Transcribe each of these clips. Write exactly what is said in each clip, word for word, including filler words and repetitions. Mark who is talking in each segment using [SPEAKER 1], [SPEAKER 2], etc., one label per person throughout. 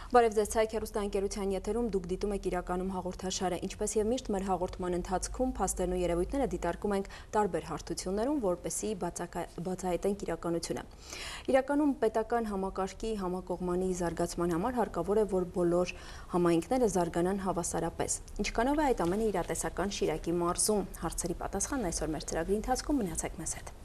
[SPEAKER 1] Բարև ձեզ, Ցայք հեռուստաընկերության եթերում դուք դիտում եք իրականում հաղորդաշարը, ինչպես եւ միշտ մեր հաղորդման ընթացքում փաստերն ու երևույթները դիտարկում ենք տարբեր հարթություններում, որպեսզի բացահայտենք իրականությունը։ Իրականում պետական համակարգի համակողմանի զարգացման համար հարկավոր է, որ բոլոր համայնքները զարգանան հավասարապես։ Ինչքանով է այդ ամենը իրատեսական Շիրակի մարզում։ Հարցերի պատասխանն այսօր մեր ծրագրի ընթացքում, մնացեք մեզ հետ։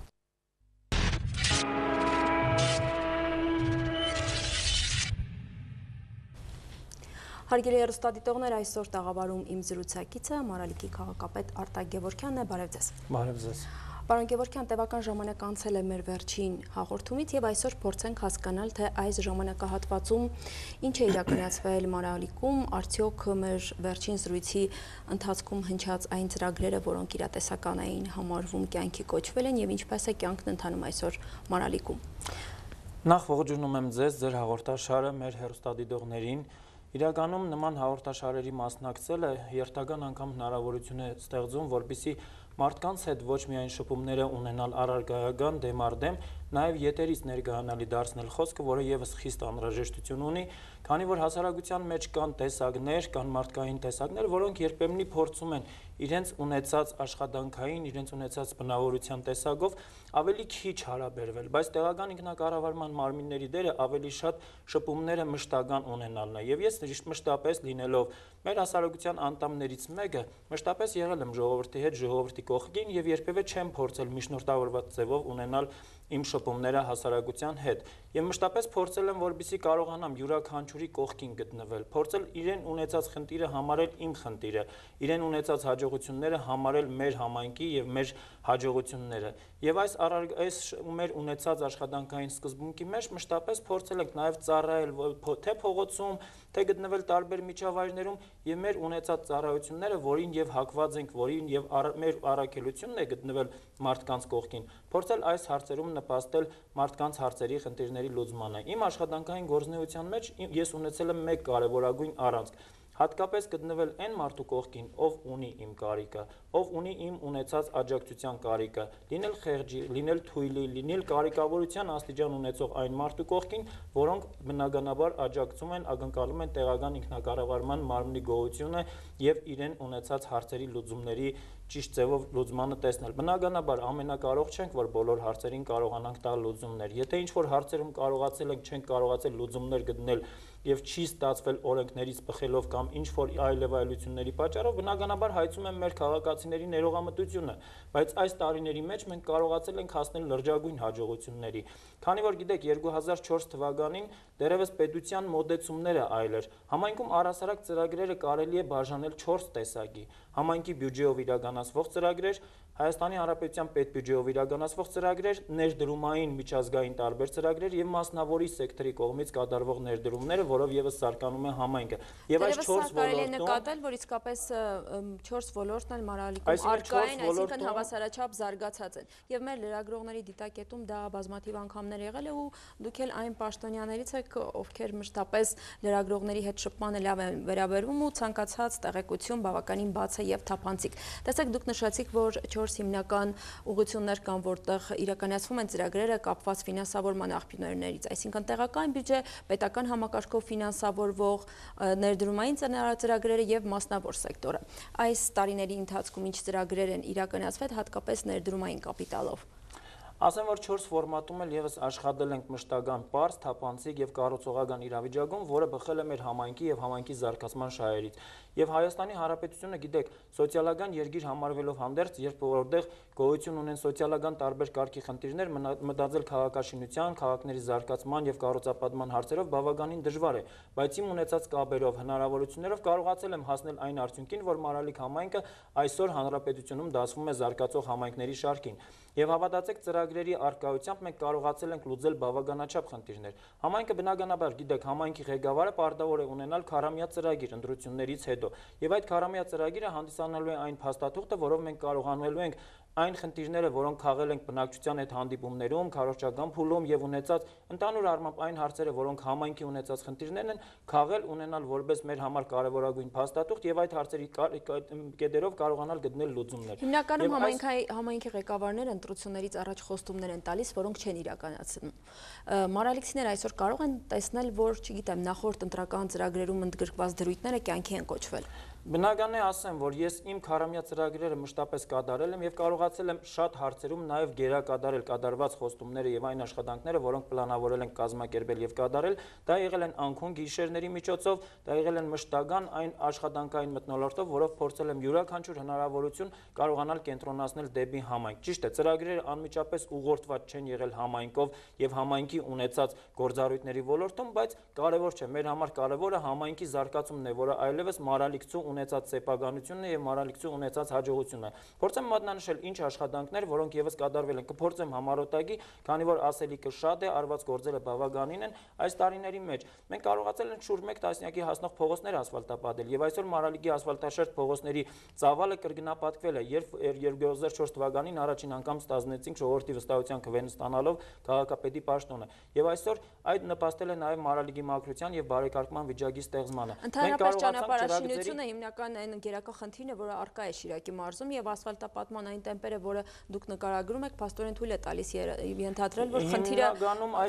[SPEAKER 1] Հարգելի հեռուստադիտողներ, այսօր տաղավարում իմ զրուցակիցը Մարալիքի քաղաքապետ Արտակ Գևորգյանն է, բարև ձեզ։
[SPEAKER 2] Բարև ձեզ։
[SPEAKER 1] Պարոն Գևորգյան, տևական ժամանակ անցել է մեր վերջին հաղորդումից եւ այսօր փորձենք հասկանալ, թե այս ժամանակահատվածում ինչ է իրականացվել Մարալիքում, արդյոք մեր վերջին զրույցի ընթացքում հնչած այն ծրագրերը, որոնք իրատեսական էին համարվում, կյանքի կոչվել են եւ ինչպես է կյանքն ընթանում այսօր Մարալիքում։
[SPEAKER 2] Նախ ողջունում եմ ձեզ, ձեր հաղորդաշարը մեր հեռուստադիտողներին։ Իրականում նման հաղորդաշարերի մասնակցելը երթական անգամ հնարավորություն է ստեղծում, որպեսզի մարդկանց հետ ոչ միայն շփումները ունենալ առարկայական դեմ առ դեմ, նաև եթերից ներկայանալի դարձնել խոսքը, որը եւս խիստ անհրաժեշտություն ունի, քանի որ հասարակության մեջ կան տեսակներ, կան մարդկային տեսակներ, որոնք երբեմնի փորձում են իրենց ունեցած աշխատանքային, իրենց ունեցած բնավորության տեսակով ավելի քիչ հարաբերվել, բայց տեղական ինքնակառավարման մարմինների դերը ավելի շատ շփումները մշտական ունենալն է, եւ ես մշտապես լինելով մեր հասարակության անդամներից մեկը, մշտապես եղել եմ ժողովրդի հետ, ժողովրդի կողքին եւ երբեւե չեմ փորձել միջնորդավորված ձևով ունենալ իմ շփումները հասարակության հետ եւ մշտապես փորձել եմ, որպեսզի կարողանամ յուրաքանչյուրի կողքին գտնվել, փորձել իրեն ունեցած խնդիրը համարել իմ խնդիրը, իրեն ունեցած հաջողությունները համարել մեր համայնքի եւ մեր հաջողությունները եւ այս այս մեր ունեցած աշխատանքային սկզբունքի մեջ մշտապես փորձել ենք նաեւ ծառայել թե փողոցում, թե գտնվել տարբեր միջավայրներում եւ մեր ունեցած ծառայությունները, որին եւ հակված ենք, որին եւ մեր առաքելությունն է գտնվել մարդկանց կողքին, փորձել այս հարցերում նպաստել մարդկանց հարցերի, խնդիրների լուծմանը։ Իմ աշխատանքային գործունեության մեջ ես ունեցել եմ մեկ կարևորագույն առանցք, հատկապես գտնվել այն մարդու կողքին, ով ունի իմ կարիքը, ով ունի իմ ունեցած աջակցության կարիքը, լինել խեղճի, լինել թույլի, լինել կարիքավորության աստիճան ունեցող այն մարդու կողքին, որոնք բնականաբար աջակցում են, ակնկալում են տեղական ինքնակառավարման մարմնի գոյությունը եւ իրեն ունեցած հարցերի լուծումների ճիշտ ձևով լուծմանը տեսնել։ Բնականաբար ամենակարող չենք, որ բոլոր հարցերին կարողանանք տալ լուծումներ։ Եթե ինչ-որ հարցերում կարողացել ենք, չենք կարողացել լուծումներ գտնել եւ չի ստացվել օրենքներից բխելով կամ ինչ-որ այլև այլությունների պատճառով, բնականաբար հայցում են մեր քաղաքացիների ներողամտությունը, բայց այս տարիների մեջ մենք կարողացել ենք հասնել լրջագույն հաջողությունների։ Քանի որ գիտեք, երկու հազար չորս թվականին դերևս պետության մոտեցումները այլ էր։ Համայնքում առհասարակ ծրագրերը կարելի է բաժանել չորս տեսակի։ Համայնքի բյուջեով իրականացվող ծրագրեր, Հայաստանի Հանրապետության պետբյուջեով իրականացվող ծրագրեր, ներդրումային միջազգային տարբեր ծրագրեր եւ մասնավորի սեկտորի կողմից կատարվող ներդրումները, որով եւս սարկանում է համայնքը։ Եվ այս չորս ոլորտում
[SPEAKER 1] նկատել, որ իսկապես չորս ոլորտն էլ Մարալիքում առկա են, այսինքն հավասարաչափ զարգացած են։ Եվ մեր լրագրողների դիտակետում դա բազմաթիվ անգամներ եղել է ու դուք էլ այն պաշտոնյաներից եք, ովքեր մշտապես լրագրողների հետ շփմանը լավ են վերաբերվում ու ցանկացած տեղեկություն բավականին բաց է եւ թափանցիկ։ Տեսեք, դուք նշեցիք, որ չորս հիմնական ուղղություններ կան, որտեղ իրականացվում են ծրագրերը կապված ֆինանսավորման աղբյուրներից, այսինքն տեղական բյուջե, պետական համակարգով ֆինանսավորվող ներդրումային ծրագրերը եւ մասնավոր սեկտորը։ Այս տարիների ընթացքում ինչ ծրագրեր են իրականացվել հատկապես ներդրումային կապիտալով։
[SPEAKER 2] Ասեմ, որ չորս ֆորմատում էլ եւս աշխատել ենք մշտական պարզ, թափանցիկ եւ կառուցողական իրավիճակում, որը բխել է մեր համայնքի եւ համայնքի զարգացման շահերից։ Եվ Հայաստանի Հանրապետությունը, գիտեք, սոցիալական երկիր համարվելով հանդերձ, երբ որտեղ գոյություն ունեն սոցիալական տարբեր կարգի խնդիրներ, մտածել քաղաքաշինության, քաղաքների զարգացման եւ կառուցապատման հարցերով բավականին դժվար է, բայց իմ ունեցած կապերով, հնարավորություններով կարողացել եմ հասնել այն արդյունքին, որ Մարալիկ համայնքը այսօր հանրապետությունում դասվում է զարգացող համայնքների շարքին։ Եվ հավատացեք, ծրագրերի արկայությամբ մենք կարողացել ենք լուծել բավականաչափ խնդիրներ։ Համայնքը բնականաբար, գիտեք, համայնքի ղեկավարը պարտավոր է ունենալ քառամյա ծրագիր ընտրություններից հետո։ Եվ այդ քառամյա ծրագիրը հանդիսանալու է այն փաստաթուղթը, որով մենք կարողանալու ենք այն խնդիրները, որոնք քաղել ենք բնակչության հետ հանդիպումներում, քարոզչական փուլում եւ ունեցած ընդհանուր առմամբ այն հարցերը, որոնք համայնքի ունեցած խնդիրներն են, քաղել ունենալ որպես մեր համար կարևորագույն փաստաթուղթ եւ այդ հարցերի կետերով կարողանալ գտնել լուծումներ։
[SPEAKER 1] Հիմնականում համայնքի ղեկավարները ընտրություններից առաջ խոստումներ են տալիս, որոնք չեն իրականացնում։ Մարալիքցիները այսօր կարող են տեսնել, որ, չգիտեմ, նախորդ ընտրական ծրագրերում ընդգրկված դրույթները կյանքի են կոչվել։
[SPEAKER 2] Բնական է ասեմ, որ ես իմ քառամյա ծրագրերը մշտապես կատարել եմ եւ կարողացել եմ շատ հարցերում նաեւ գերակատարել կատարված խոստումները եւ այն աշխատանքները, որոնք պլանավորել ենք կազմակերպել եւ կատարել, դա եղել են անքուն գիշերների միջոցով, դա եղել են մշտական այն աշխատանքային մթնոլորտով, որով փորձել եմ յուրաքանչյուր հնարավորություն կարողանալ կենտրոնացնել դեպի համայնք։ Ճիշտ է, ծրագրերը անմիջապես ուղղորդված չեն եղել համայնքով եւ համայնքի ունեցած գործառույթների ոլորտում, բայց կարեւոր չէ, մեր համար կարեւորը համայնքի զարգացումն է, որը այլևս մարալիքցու ունեցած սեփականությունն է եւ մարալիքցու ունեցած հաջողությունն է։ Փորձեմ մատնանշել ինչ աշխատանքներ, որոնք եւս կատարվել են, կփորձեմ համառոտակի, քանի որ ասելիքը շատ է, արված գործերը բավականին են այս տարիների մեջ։ Մենք կարողացել ենք շուրջ մեկ տասնյակի հասնող փողոցներ ասֆալտապատել եւ այսօր Մարալիկի ասֆալտաշերտ փողոցների ծավալը կրկնապատկվել է, երբ երկու հազար չորս թվականին առաջին անգամ ստանձնեցինք ժողովրդի վստահության քվեն ստանալով քաղաքապետի պաշտոնը։ Եվ այսօր այդ նպաստել է նաեւ Մարալիկի մաքրության եւ բարեկարգման վիճակի ստեղծմանը։
[SPEAKER 1] Ընդհանրապես ճանապարհաշինությունը հիմնական այն գերակա խնդիրն է, որը առկա է Շիրակի մարզում եւ ասֆալտապատման այն տեմպերը, որը դուք նկարագրում եք, փաստորեն թույլ է տալիս ենթադրել, որ խնդիրը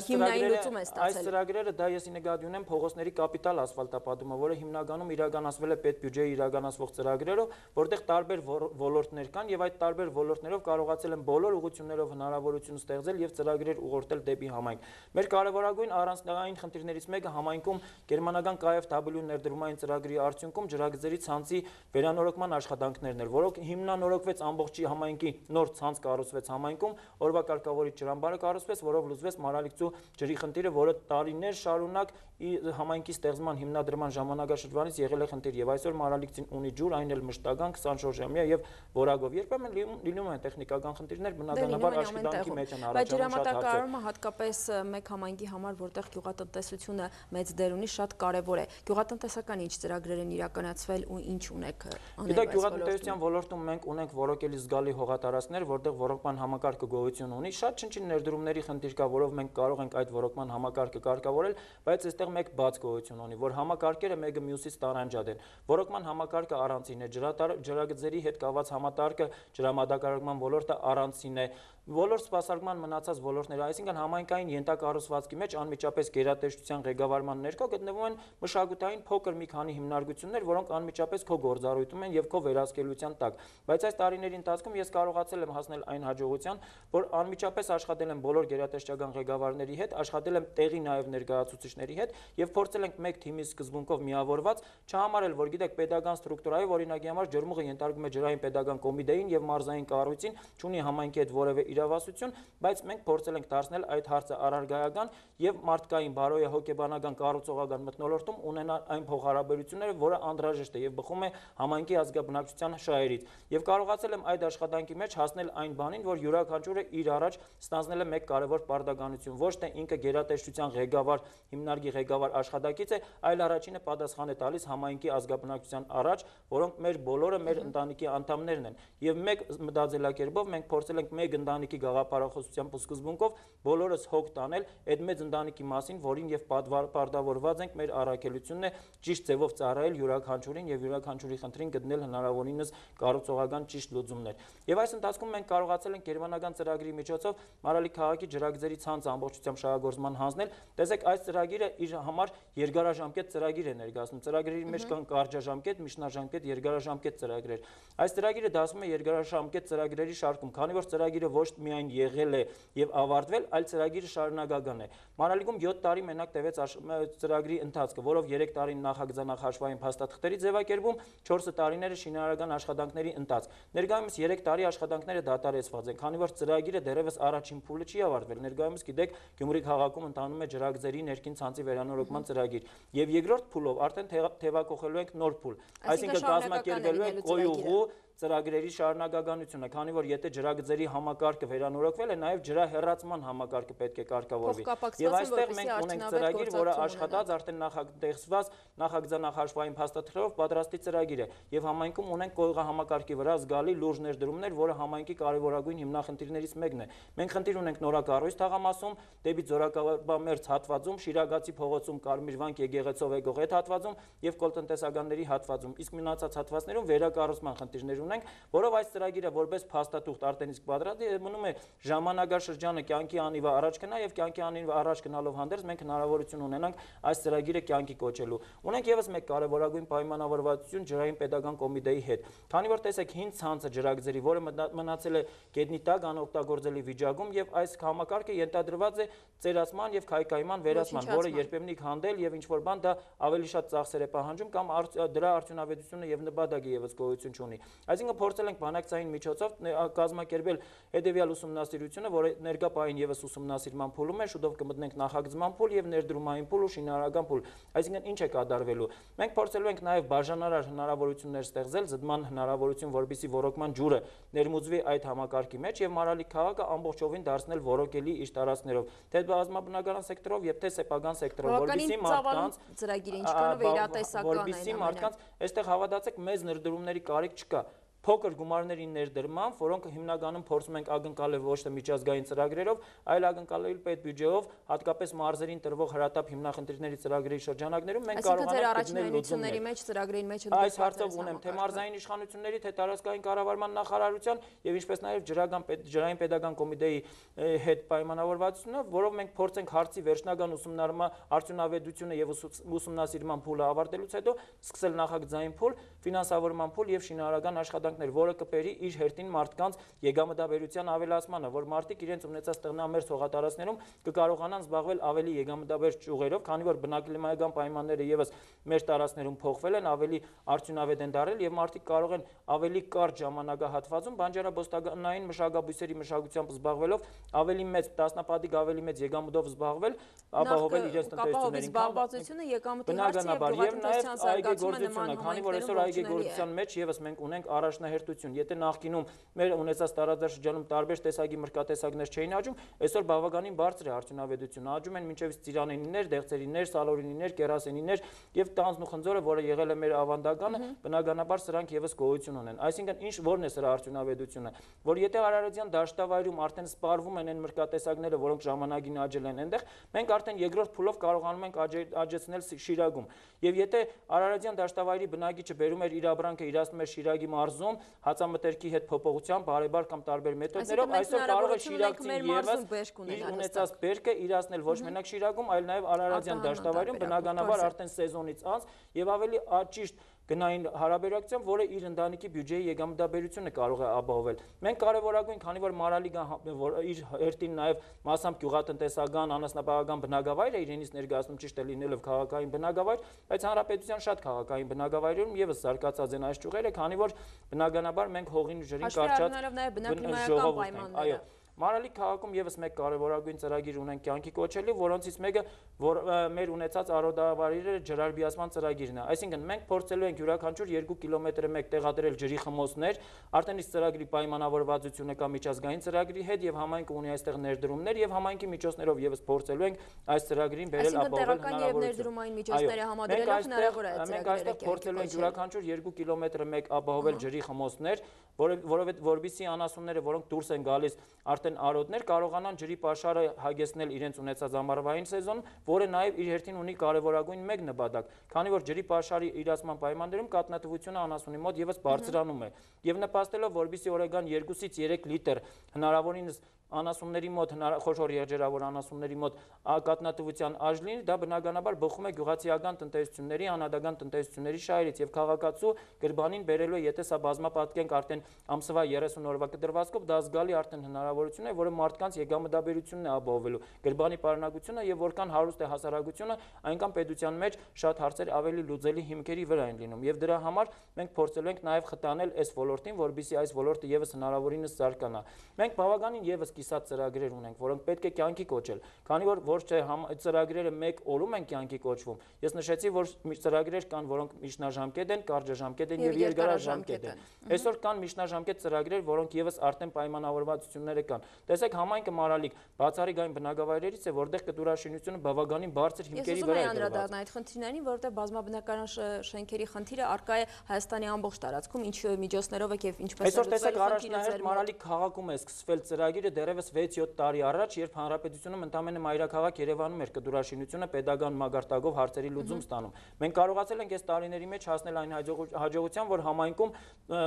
[SPEAKER 1] հիմնային լուծում է ստացել։
[SPEAKER 2] Այս ծրագրերը դա եսի նկատի ունեմ փողոցների կապիտալ ասֆալտապատումը, որը հիմնականում իրականացվել է պետբյուջեի իրականացվող ծրագրերով, որտեղ տարբեր ոլորտներ կան եւ այդ տարբեր ոլորտներով կարողացել են բոլոր ուղղություններով հնարավորություն ստեղծել եւ ծրագրեր ուղղորդել դեպի համայնք։ Մեր կարևորագույն առանձնային խնդիրներից մեկը համայնքում գերմանական K F W ներդրումային ծրագրի արդյունքում ջրագծերի ցանցի վերանորոգման աշխատանքներն էր, որոնք հիմնանորոգվեց ամբողջի համայնքի նոր ցանց կառուցվեց համայնքում, օրվա կարգավորիչ ջրամբարը կառուցվեց, որով լուծվեց Մարալիքցու ջրի խնդիրը, որը տարիներ շարունակ համայնքի ստեղծման հիմնադրման ժամանակաշրջանից եղել է խնդիր եւ այսօր Մարալիքցին ունի ջուր, այն էլ մշտական քսանչորս ժամյա եւ որակով։ Երբեմն լինում են տեխնիկական խնդիրներ, բնականաբար աշխատանքի մեջ են առաջանում շատ հարցեր։
[SPEAKER 1] Բայց ջրամատակարարումը հատկապես մեկ համայնքի համար, որտեղ գյուղատնտեսությունը մեծ դեր ունի, շատ կարեւոր է։ Գյուղատնտեսական ինչ ծրագրեր են իրականացվել ու ինչ ունեք անել։
[SPEAKER 2] Գիտեք, գյուղատնտեսության ոլորտում մենք ունենք որոկելի զգալի հողատարածքներ, որտեղ ոռոգման համակարգը գոյություն ունի։ Շատ չնչին ներդրումների խնդիր կա, որով մենք կարող ենք այդ ոռոգման համակարգը կարգավորել, բայց այստեղ մեկ բաց գոյություն ունի, որ համակարգերը մեկը մյուսից տարանջատ են։ Ոռոգման համակարգը առանցին է, ջրագծերի հետ կապված համակարգը, ջրամատակարարման ոլորտը առանցին է։ Բոլոր սպասարկման մնացած ոլորտները, այսինքն համայնքային ենթակառուցվածքի մեջ անմիջապես գերատեսչության ղեկավարման ներքո գտնվում են մշակութային փոքր մի քանի հիմնարկություններ, որոնք անմիջապես քո գործառույթում են եւ քո վերահսկելիության տակ։ Բայց այս տարիների ընթացքում ես կարողացել եմ հասնել այն հաջողության, որ անմիջապես աշխատել եմ բոլոր գերատեսչական ղեկավարների հետ, աշխատել եմ տեղի նաեւ ներկայացուցիչների հետ եւ փորձել ենք մեկ թիմի սկզբունքով միավորված չհամարել, որ գիտեք, պետական ստրուկտուրայի օրինակի համար ջրմուղը ենթարկվում է ջրային պետական կոմիտեին եւ մարզային կառույցին, չունի համայնքի հետ որևէ իրավասություն, բայց մենք փորձել ենք դարձնել այդ հարցը առարգայական եւ մարդկային բարոյա հոգեբանական կառուցողական մթնոլորտում ունենալ այն փոխհարաբերությունները, որը անդրաժեշտ է եւ բխում է համայնքի ազգաբնակչության շահերից։ Եվ կարողացել եմ այդ աշխատանքի մեջ հասնել այն բանին, որ յուրաքանչյուրը իր առաջ ստանձնել է մեկ կարևոր պարտականություն, ոչ թե ինքը գերատեսչության ղեկավար, հիմնարկի ղեկավար աշխատակից է, այլ առաջինը պատասխան է տալիս համայնքի ազգաբնակչության առաջ, որոնք մեր բոլորը մեր ընտանիքի անդամներն են։ Եվ մեկ մտածելակերպով մենք փորձել ենք մեկ ընտանիքի գաղափարախոսությամբ ու սկզբունքով բոլորս հոգ տանել այդ մեծ ընտանիքի մասին, որին եւ պարտավորված ենք մեր առաքելությունն է ճիշտ ձևով ծառայել յուրաքանչյուրին եւ յուրաքանչյուրի խնդրին գտնել հնարավորինս կառուցողական ճիշտ լուծումներ։ Եվ այս ընթացքում մենք կարողացել ենք գերմանական ծրագրի միջոցով Մարալիկ քաղաքի ջրագծերի ցանցը ամբողջությամբ շահագործման հանձնել։ Տեսեք, այս ծրագիրը իր համար երկարաժամկետ ծրագիր է ներկայացնում։ Ծրագրերի մեջ կան կարճաժամկետ, միջնաժամկետ, երկարաժամկետ ծրագրեր։ Այս ծրագիրը դասվում է երկարաժամկետ ծրագրերի շարքում, քանի որ ծրագիրը ոչ միայն եղել է եւ ավարտվել, այլ ծրագիրը շարունակական է։ Մարալիկում յոթ տարի մենակ տևեց ծրագրի ընթացքը, որով երեք տարին նախագծանախաշվային փաստաթղթերի ձևակերպում, չորս տարիները շինարարական աշխատանքների ընթացք։ Ներկայումս երեք տարի աշխատանքները դադարեցված են, քանի որ ծրագիրը դեռևս առաջին փուլը չի ավարտվել։ Ներկայումս գիտեք, Գյումրի քաղաքում ընթանում է ջրագծերի ներքին ցանցի վերանորոգման ծրագիր։ Եվ երկրորդ փուլով արդեն թևակողելու ենք նոր փուլ, այսինքն կազմակերպելու ենք Կոյուղու ծրագրերի շարունակականությունը, քանի որ եթե ջրագծերի համակարգը վերանորոգվել է, նաև ջրահեռացման համակարգը պետք է կարգավորվի։ Եվ այստեղ մենք ունենք ծրագիր, որը աշխատած, արդեն նախատեսված նախագծանախաշվային փաստաթղթերով պատրաստի ծրագիր է, եւ համայնքում ունենք կողմահամակարգի վրա զգալի լուրջ ներդրումներ, որը համայնքի կարևորագույն հիմնախնդիրներից մեկն է։ Մենք խնդիր ունենք նորակառույց թաղամասում, դեպի Ձորակաբամերձ հատվածում, Շիրագացի փողոցում, Կարմիր վանք եկեղեցով եկող այդ հատվածում եւ կոլտնտեսականների հատվածում, իսկ մնացած հատվածներում վերակառուցման խնդիրներ ունենք, որով այս ծրագիրը որպես փաստաթուղթ արդեն իսկ պատրաստ է, մնում է ժամանակաշրջանը կյանքի անիվա առաջ գնա եւ կյանքի անիվա առաջ գնալով հանդերձ մենք հնարավորություն ունենանք այս ծրագիրը կյանքի կոչելու։ Ունենք եւս մեկ կարևորագույն պայմանավորվածություն ջրային պետական կոմիտեի հետ, քանի որ տեսեք հին ցանցը ջրագծերի, որը մնացել է գետնի տակ անօգտագործելի վիճակում եւ այս համակարգը ենթադրված է ծերացման եւ քայքայման վերացման, որը երբեմնի հանդել եւ ինչ որ բան դա ավելի շատ ծախսեր է պահանջում կամ դրա արդյունավետությունը եւ նպատակը եւս գոյություն չունի։ Այսինքն փորձել ենք բանակցային միջոցով կազմակերպել հետեւյալ ուսումնասիրությունը, որը ներկա պահին եւս ուսումնասիրման փուլում է, շուտով կմտնենք նախագծման փուլ եւ ներդրումային փուլ ու շինարարական փուլ։ Այսինքն ինչ է կատարվելու։ Մենք փորձելու ենք նաեւ բաժանարար հնարավորություններ ստեղծել, զդման հնարավորություն, որպեսզի ոռոգման ջուրը ներմուծվի այդ համակարգի մեջ եւ Մարալի քաղաքը ամբողջովին դարձնել ոռոգելի իր տարածքներով, թե բազմաբնակարան սեկտորով եւ թե սեփական սեկտորով, որպեսզի մարդկանց
[SPEAKER 1] ծրագիրը ինչքանով վերատեսական է,
[SPEAKER 2] որպեսզի մարդկանց այստեղ հավատացեք մեծ ներդրումների կարիք չկա։ Փոքր գումարների ներդրման, որոնք հիմնականում փորձում ենք ակնկալել ոչ թե միջազգային ծրագրերով, այլ ակնկալել պետբյուջեով, հատկապես մարզերին տրվող հրատապ հիմնախնդիրների ծրագրերի շրջանակներում մենք կարողանանք գտնել լուծումների
[SPEAKER 1] մեջ ծրագրերի մեջ
[SPEAKER 2] այս հարցով ունեմ թե մարզային իշխանությունների, թե տարածքային կառավարման նախարարության եւ ինչպես նաեւ ջրական ջրային պետական կոմիտեի հետ պայմանավորվածությունը, որով մենք փորձենք հարցի վերջնական ուսումնարման արդյունավետությունը եւ ուսումնասիրման փուլը ավարտելուց հետո սկսել նախագծային փուլ, ֆինանսավորման փուլ եւ շինարարական աշխատանք, որը կբերի իր հերթին մարդկանց եկամտաբերության ավելացմանը, որ մարդիկ իրենց ունեցած տղնամերձ հողատարածքներում կկարողանան զբաղվել ավելի եկամտաբեր ճյուղերով, քանի որ բնակլիմայական պայմանները եւս մեր տարածքներում փոխվել են, ավելի արդյունավետ են դարել եւ մարդիկ կարող են ավելի կարճ ժամանակահատվածում բանջարաբոստանային մշակաբույսերի մշակությամբ զբաղվելով ավելի մեծ տասնապատիկ ավելի մեծ եկամտով զբաղվել, ապահովել իրենց տնտեսություններին,
[SPEAKER 1] զբաղվածությունը եկամտի հարցը եւ
[SPEAKER 2] գյուղատնտեսության զարգացումը, քանի որ այսօր այգեգործության մեջ եւս մենք ունենք առաջնահերթություն։ Եթե նախկինում մեր ունեցած տարածաշրջանում տարբեր տեսակի մրգատեսակներ չէին աճում, այսօր բավականին բարձր է արդյունավետությունը։ Աճում են մինչև ծիրանենիներ, դեղցերիներ, սալորինիներ, կերասենիներ եւ տանձն ու խնձորը, որը եղել է մեր ավանդականը, բնականաբար սրանք եւս գոյություն ունեն։ Այսինքն ինչ որն է սրա արդյունավետությունը, որ եթե Արարատյան դաշտավայրում արդեն սպառվում են այն մրգատեսակները, որոնք ժամանակին աճել են այնտեղ, մենք արդեն երկրորդ փուլով կարողանում ենք աճեցնել Շիրագում։ Եվ եթե Արարատյան դաշտավայրի բնակիչը բերում էր իր ապրանքը, իրացնում էր Շիրագի մարզում, հացամթերքի հետ փոփոխությամբ, բարեբար կամ տարբեր մեթոդներով, այսօր կարող է շիրակցին եւս իր ունեցած բերքը իրացնել ոչ մենակ Շիրագում, այլ նաեւ Արարատյան դաշտավայրում, բնականաբար արդեն սեզոնից անց եւ ավելի ճիշտ գնային հարաբերակցությամբ, որը իր ընտանիքի բյուջեի եկամտաբերությունը կարող է ապահովել։ Մենք կարևորագույն, քանի որ Մարալիգան իր հերթին նաև մասամբ գյուղատնտեսական, անասնապահական բնակավայր է իրենից ներկայացնում, ճիշտ է լինելով քաղաքային բնակավայր, բայց հանրապետության շատ քաղաքային բնակավայրերում եւս զարգացած են այս ճյուղերը, քանի որ բնականաբար մենք հողին ու ջրին կարճած ժողովուրդ ենք։ Մարալի քաղաքում եւս մեկ կարևորագույն ծրագիր ունենք կյանքի կոչելու, որոնցից մեկը որ մեր ունեցած արոդավարիները ջրարբիացման ծրագիրն է։ Այսինքն մենք փորձելու ենք յուրաքանչյուր երկու կիլոմետրը մեկ տեղադրել ջրի խմոցներ, արդեն իսկ ծրագրի պայմանավորվածությունը կա միջազգային ծրագրի հետ եւ համայնքը ունի այստեղ ներդրումներ եւ համայնքի միջոցներով եւս փորձելու ենք այս ծրագրին բերել ապահովել հնարավորություն։ Մենք այստեղ փորձելու ենք յուրաքանչյուր երկու կիլոմետրը մեկ ապահովել ջրի խմոցներ, որովհետեւ որբիսի անասունները, որոնք դուրս են գալիս արդեն արոտներ կարողանան ջրի պաշարը հագեցնել իրենց ունեցած ամառվային սեզոնում, որը նաև իր հերթին ունի կարևորագույն մեկ նպատակ, քանի որ ջրի պաշարի իրացման պայմաններում կաթնատվությունը անասունի մոտ եւս բարձրանում է եւ նպաստելով, որպեսզի օրական երկուսից երեք լիտր հնարավորինս անասունների մոտ խոշոր եղջերավոր անասունների մոտ կաթնատվության աճ լինի, դա բնականաբար բխում է գյուղացիական տնտեսությունների, անհատական տնտեսությունների շահերից եւ քաղաքացու գրբանին բերելու է, եթե սա բազմապատկենք արդեն ամսվա երեսուն օրվա կտրվածքով, դա զգալի արդեն հնարավորություն է, որը մարդկանց եկամտաբերությունն է ապահովելու, գրբանի պարունակությունը եւ որքան հարուստ է հասարակությունը, այնքան պետության մեջ շատ հարցեր ավելի լուծելի հիմքերի վրա են լինում եւ դրա համար մենք փորձելու ենք նաեւ խտանել այս ոլորտին, որպեսզի այս ոլորտը եւս հնարավորինս զարգանա։ Մենք բավականին եւս կիսատ ծրագրեր ունենք, որոնք պետք է կյանքի կոչել, քանի որ ոչ թե ծրագրերը մեկ օրում են կյանքի կոչվում։ Ես նշեցի, որ ծրագրեր կան, որոնք միջնաժամկետ են, կարճաժամկետ են եւ երկարաժամկետ են։ Այսօր կան միջնաժամկետ ծրագրեր, որոնք եւս արդեն պայմանավորվածությունները կան։ Տեսեք, համայնքը Մարալիկ բացառիկ այն բնակավայրերից է, որտեղ կտուրաշինությունը բավականին բարձր հիմքերի վրա է
[SPEAKER 1] դրված։ Այդ խնդիրներին, որովհետեւ բազմաբնակարան շենքերի խնդիրը առկա է Հայաստանի ամբողջ տարածքում, ինչ միջոցներով է եւ ինչպես է։
[SPEAKER 2] Այսօր տեսեք, առաջնահերթ Մարալիկ քաղաքում է սկսվել ծրագիրը դեռևս վեց-յոթ տարի առաջ, երբ հանրապետությունում ընդամենը մայրաքաղաք Երևանում էր կտուրաշինությունը պետական մագարտակով հարցերի լուծում ստանում։ Մենք կարողացել ենք այս տարիների մեջ հասնել այն հաջողության, որ համայնքում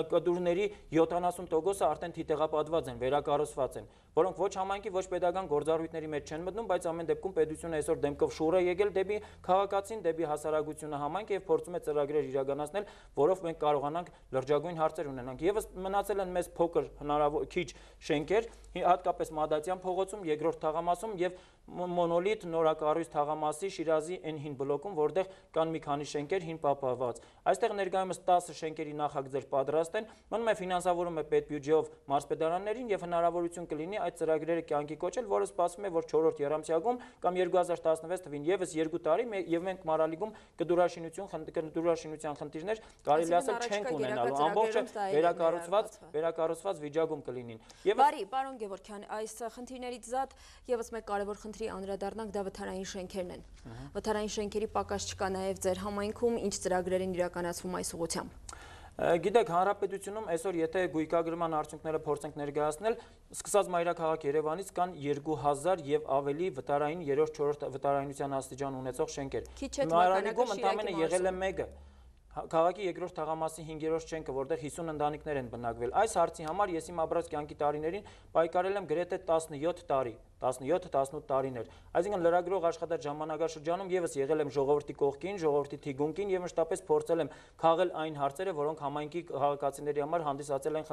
[SPEAKER 2] կտուրների յոթանասուն տոկոսը արդեն թիթեղապատված են, վերակառուցված են, որոնք ոչ համայնքի, ոչ պետական գործառույթների մեջ չեն մտնում, բայց ամեն դեպքում պետությունը այսօր դեմքով շուռ է եկել դեպի քաղաքացին, դեպի հասարակությունը համայնքը եւ փորձում է ծրագրեր իրականացնել, որով մենք կարողանանք լրջագույն հարցեր ունենանք։ Եվս մնացել են մեզ փոքր հնարավոր քիչ շենքեր, հատկապես Մադատյան փողոցում, երկրորդ թաղամասում եւ Մոնոլիթ նորակառույց թաղամասի Շիրազի N հին բլոկում, որտեղ կան մի քանի շենքեր հին պահպանված։ Այստեղ ներկայումս տասը շենքերի նախագծեր պատրաստ են, մնում է ֆինանսավորում է պետբյուջեով մարզպետարաններին եւ հնարավորություն կլինի այդ ծրագրերը կյանքի կոչել, որը սպասվում է, որ չորրորդ եռամսյակում կամ երկու հազար տասնվեց թվին եւս երկու տարի եւ մենք Մարալիկում կդուրաշինություն կդուրաշինության խնդիրներ կարելի ասել չենք ունենալու, ամբողջը վերակառուցված վերակառուցված վիճակում կլինին։
[SPEAKER 1] Բարի, պարոն Գևորգյան, այս խնդիրներից զատ եւս մեկ կարևոր խնդրի անդրադառնանք, դա վթարային շենքերն են։ Վթարային շենքերի պակաս չկա նաեւ ձեր համայնքում, ինչ ծրագրեր են իրականացվում այս ուղղությամբ։
[SPEAKER 2] Գիտեք, հանրապետությունում այսօր եթե գույքագրման արդյունքները փորձենք ներկայացնել, սկսած մայրաքաղաք Երևանից կան երկու հազար եւ ավելի վտարային երրորդ չորրորդ վտարայնության աստիճան ունեցող շենքեր։ Մարալիկում ընդամենը եղել է մեկը։ Քաղաքի երկրորդ թաղամասի հինգերորդ շենքը, որտեղ հիսուն ընտանիքներ են բնակվել։ Այս հարցի համար ես իմ ապրած կյանքի տարիներին պայքարել եմ գրեթե տասնյոթ տարի, տասնյոթ տասնութ տարիներ։ Այսինքն լրագրող աշխատած ժամանակաշրջանում եւս եղել եմ ժողովրդի կողքին, ժողովրդի թիկունքին եւ մշտապես փորձել եմ քաղել այն հարցերը, որոնք համայնքի քաղաքացիների համար հանդիսացել են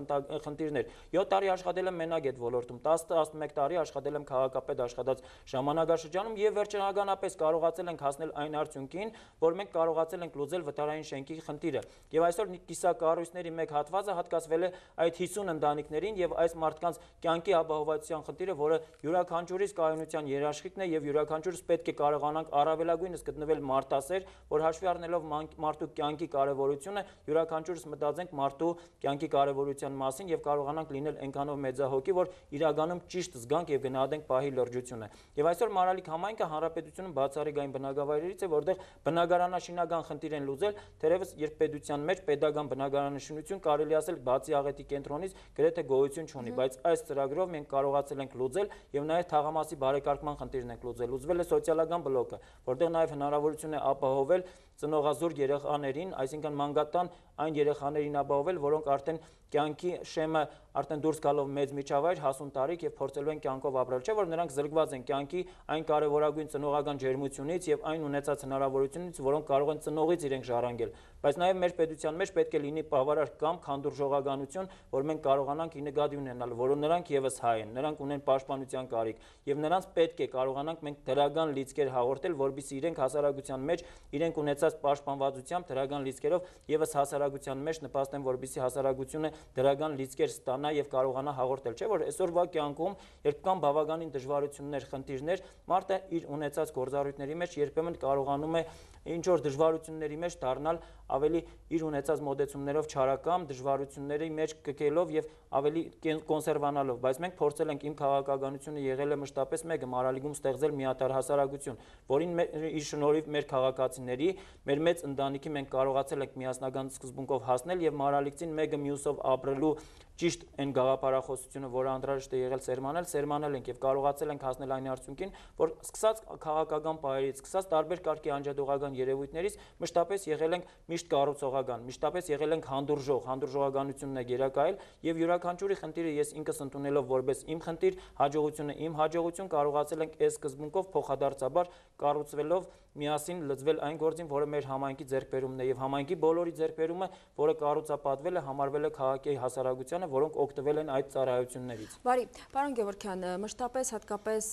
[SPEAKER 2] խնդիրներ։ յոթ տարի աշխատել եմ մենակ այդ ոլորտում, տասը տասնմեկ տարի աշխատել եմ քաղաքապետ աշխատած ժամանակաշրջանում եւ վերջնականապես կարողացել ենք հասնել այն արդյունքին, որ մենք կարողացել ենք լուծել վտարային շենքի խնդիրը։ Եվ այսօր կիսակառույցների մեկ հատվածը հատկացվել է այդ հիսուն ընտանիքներին եւ այս մարդկանց կյանքի ապահովության խնդիրը, որը յուրաքանչյուրիս կայունության երաշխիքն է եւ յուրաքանչյուրս պետք է կարողանանք առավելագույնս գտնվել մարտասեր, որ հաշվի առնելով մարդու կյանքի կարեւորությունը, յուրաքանչյուրս մտածենք մարդու կյանքի կարեւորության մասին եւ կարողանանք լինել այնքանով մեծահոգի, որ իրականում ճիշտ զգանք եւ գնահատենք պահի լրջությունը։ Եվ այսօր Մարալիկ համայնքը հանրապետությունում բացառիկ այն բնակավայրերից է, որտեղ բնակարանաշինական խնդիր են լուծել, թերևս երբ պետության մեջ պետական բնակարանաշինություն կարելի ասել բացի աղետի կենտրոնից գրեթե գոյություն չունի, բայց այս ծրագրով մենք կարողացել ենք լուծել եւ նաեւ թաղամասի բարեկարգման խնդիրն ենք լուծել։ Լուծվել է սոցիալական բլոկը, որտեղ նաեւ հնարավորություն է ապահովել ծնողազուրկ երեխաներին, այսինքն մանկատան այն երեխաներին ապահովել, որոնք արդեն կյանքի շեմը արդեն դուրս գալով մեծ միջավայր, հասուն տարիք եւ փորձելու են կյանքով ապրել, չէ՞ որ նրանք զրկված են կյանքի այն կարեւորագույն ծնողական ջերմությունից եւ այն ունեցած հնարավորությունից, որոնք կարող են ծնողից իրենք ժառանգել։ Բայց նաեւ մեր պետության մեջ պետք է լինի բավարար կամ քանդուրժողականություն, որ մենք կարողանանք ի նկատի ունենալ, որ նրանք եւս հայ են, նրանք ունեն պաշտպանության կարիք եւ նրանց պետք է կարողանանք մենք դրական լիցքեր հաղորդել, որբիսի իրենք հասարակության մեջ իրենք ունեցած պաշտպանվածությամբ դրական լիցքերով եւս հասարակության մեջ նպաստեն, որբիսի հասարակությունը դրական լիցքեր ստանա եւ կարողանա հաղորդել, չէ՞ որ այսօրվա կյանքում, երբ կան բավականին դժվարություններ, խնդիրներ, մարդը իր ունեցած գործառույթների մեջ երբեմն կարողանում է ինչ որ դժվարությունների մեջ դառնալ ավելի իր ունեցած մոտեցումներով չարակամ, դժվարությունների մեջ կկելով եւ ավելի կոնսերվանալով, բայց մենք փորձել ենք, իմ քաղաքականությունը եղել է մշտապես մեկը, Մարալիկում ստեղծել միատարր հասարակություն, որին իր շնորհիվ մեր քաղաքացիների, մեր մեծ ընտանիքի մենք կարողացել ենք միասնական սկզբունքով հասնել եւ Մարալիկցին մեկը մյուսով ապրելու ճիշտ այն գաղափարախոսությունը, որը անհրաժեշտ է եղել սերմանել, սերմանել ենք եւ կարողացել ենք հասնել այն արդյունքին, որ սկսած քաղաքական պայերից, սկսած տարբեր կարգի անջատողական երևույթներից մշտապես եղել ենք միշտ կառուցողական, մշտապես եղել ենք հանդուրժող, հանդուրժողականությունն է գերակայել եւ յուրաքանչյուրի խնդիրը ես ինքս ընդունելով որպես իմ խնդիր, հաջողությունը իմ հաջողություն կարողացել ենք այս սկզբունքով փոխադարձաբար կառուցվելով միասին լծվել այն գործին, որը մեր համայնքի ձեռքբերումն է եւ համայնքի բոլորի ձեռքբերումը, որը կառուցապատվել է, համարվել է քաղաքի հասարակությանը Գևորգյանը, որոնք օգտվել են այդ ծառայություններից։
[SPEAKER 1] Բարի, պարոն Գևորգյան, մշտապես հատկապես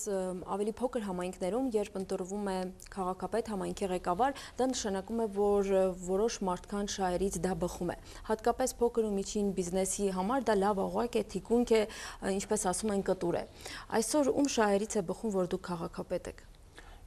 [SPEAKER 1] ավելի փոքր համայնքներում, երբ ընտրվում է քաղաքապետ, համայնքի ղեկավար, դա նշանակում է, որ որոշ մարդկանց շահերից դա բխում է։ Հատկապես փոքր ու միջին բիզնեսի համար դա լավ օղակ է, թիկունք է, ինչպես ասում են, կտուր է։ Այսօր ում շահերից է բխում, որ դուք քաղաքապետ եք։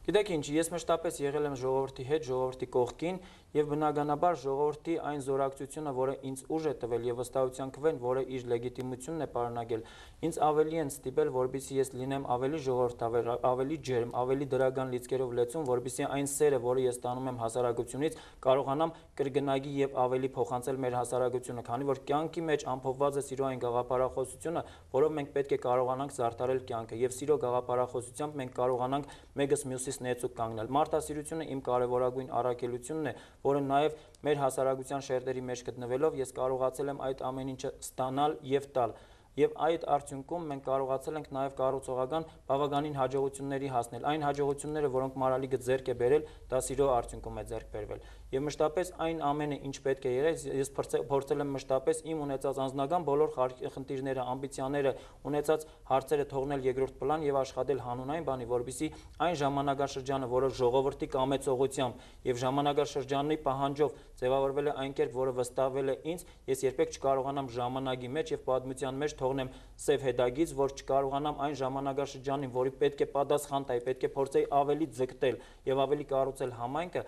[SPEAKER 2] Գիտեք ինչ, ես մշտապես եղել եմ ժողովրդի հետ, ժողովրդի կողքին եւ բնականաբար ժողովրդի այն զորակցությունը, որը ինձ ուժ է տվել եւ վստահության քվեն, որը իր լեգիտիմությունն է պարունակել, ինձ ավելի են ստիպել, որպեսզի ես լինեմ ավելի ժողովրդավեր, ավելի ջերմ, ավելի դրական լիցքերով լեցուն, որպեսզի այն սերը, որը ես ստանում եմ հասարակությունից, կարողանամ կրկնագի եւ ավելի փոխանցել մեր հասարակությունը, քանի որ կյանքի մեջ ամփոփված է սիրո այն գաղափարախոսությունը, որով մենք պետք է կարողանանք զարդարել կյանքը եւ սիրո գաղափարախոսությամբ մենք կարողանանք մեկս մյուսից նեցուկ կանգնել։ Մարդասիրությունը իմ կարևորագույն առաքելությունն է, որը նաև մեր հասարակության շերտերի մեջ գտնվելով ես կարողացել եմ այդ ամեն ինչը ստանալ եւ տալ։ Եվ այդ արդյունքում մենք կարողացել ենք նաև կառուցողական բավականին հաջողությունների հասնել։ Այն հաջողությունները, որոնք Մարալիկը ձեռք է բերել, դա սիրո արդյունքում է ձեռք բերվել։ Եվ մշտապես այն ամենը, ինչ պետք է եղել, ես փորձել եմ մշտապես իմ ունեցած անձնական բոլոր խնդիրները, ամբիցիաները, ունեցած հարցերը թողնել երկրորդ պլան եւ աշխատել հանուն այն բանի, որպեսզի այն ժամանակաշրջանը, որը ժողովրդի կամեցողությամբ եւ ժամանակաշրջանի պահանջով ձևավորվել է այն կերպ, որը վստահվել է ինձ, ես երբեք չկարողանամ ժամանակի մեջ եւ պատմության մեջ թողնեմ սև հետագից, որ չկարողանամ այն ժամանակաշրջանին, որի պետք է պատասխան տայի, պետք է փորձեի ավելի ձգտել եւ ավելի կառուցել համայնքը,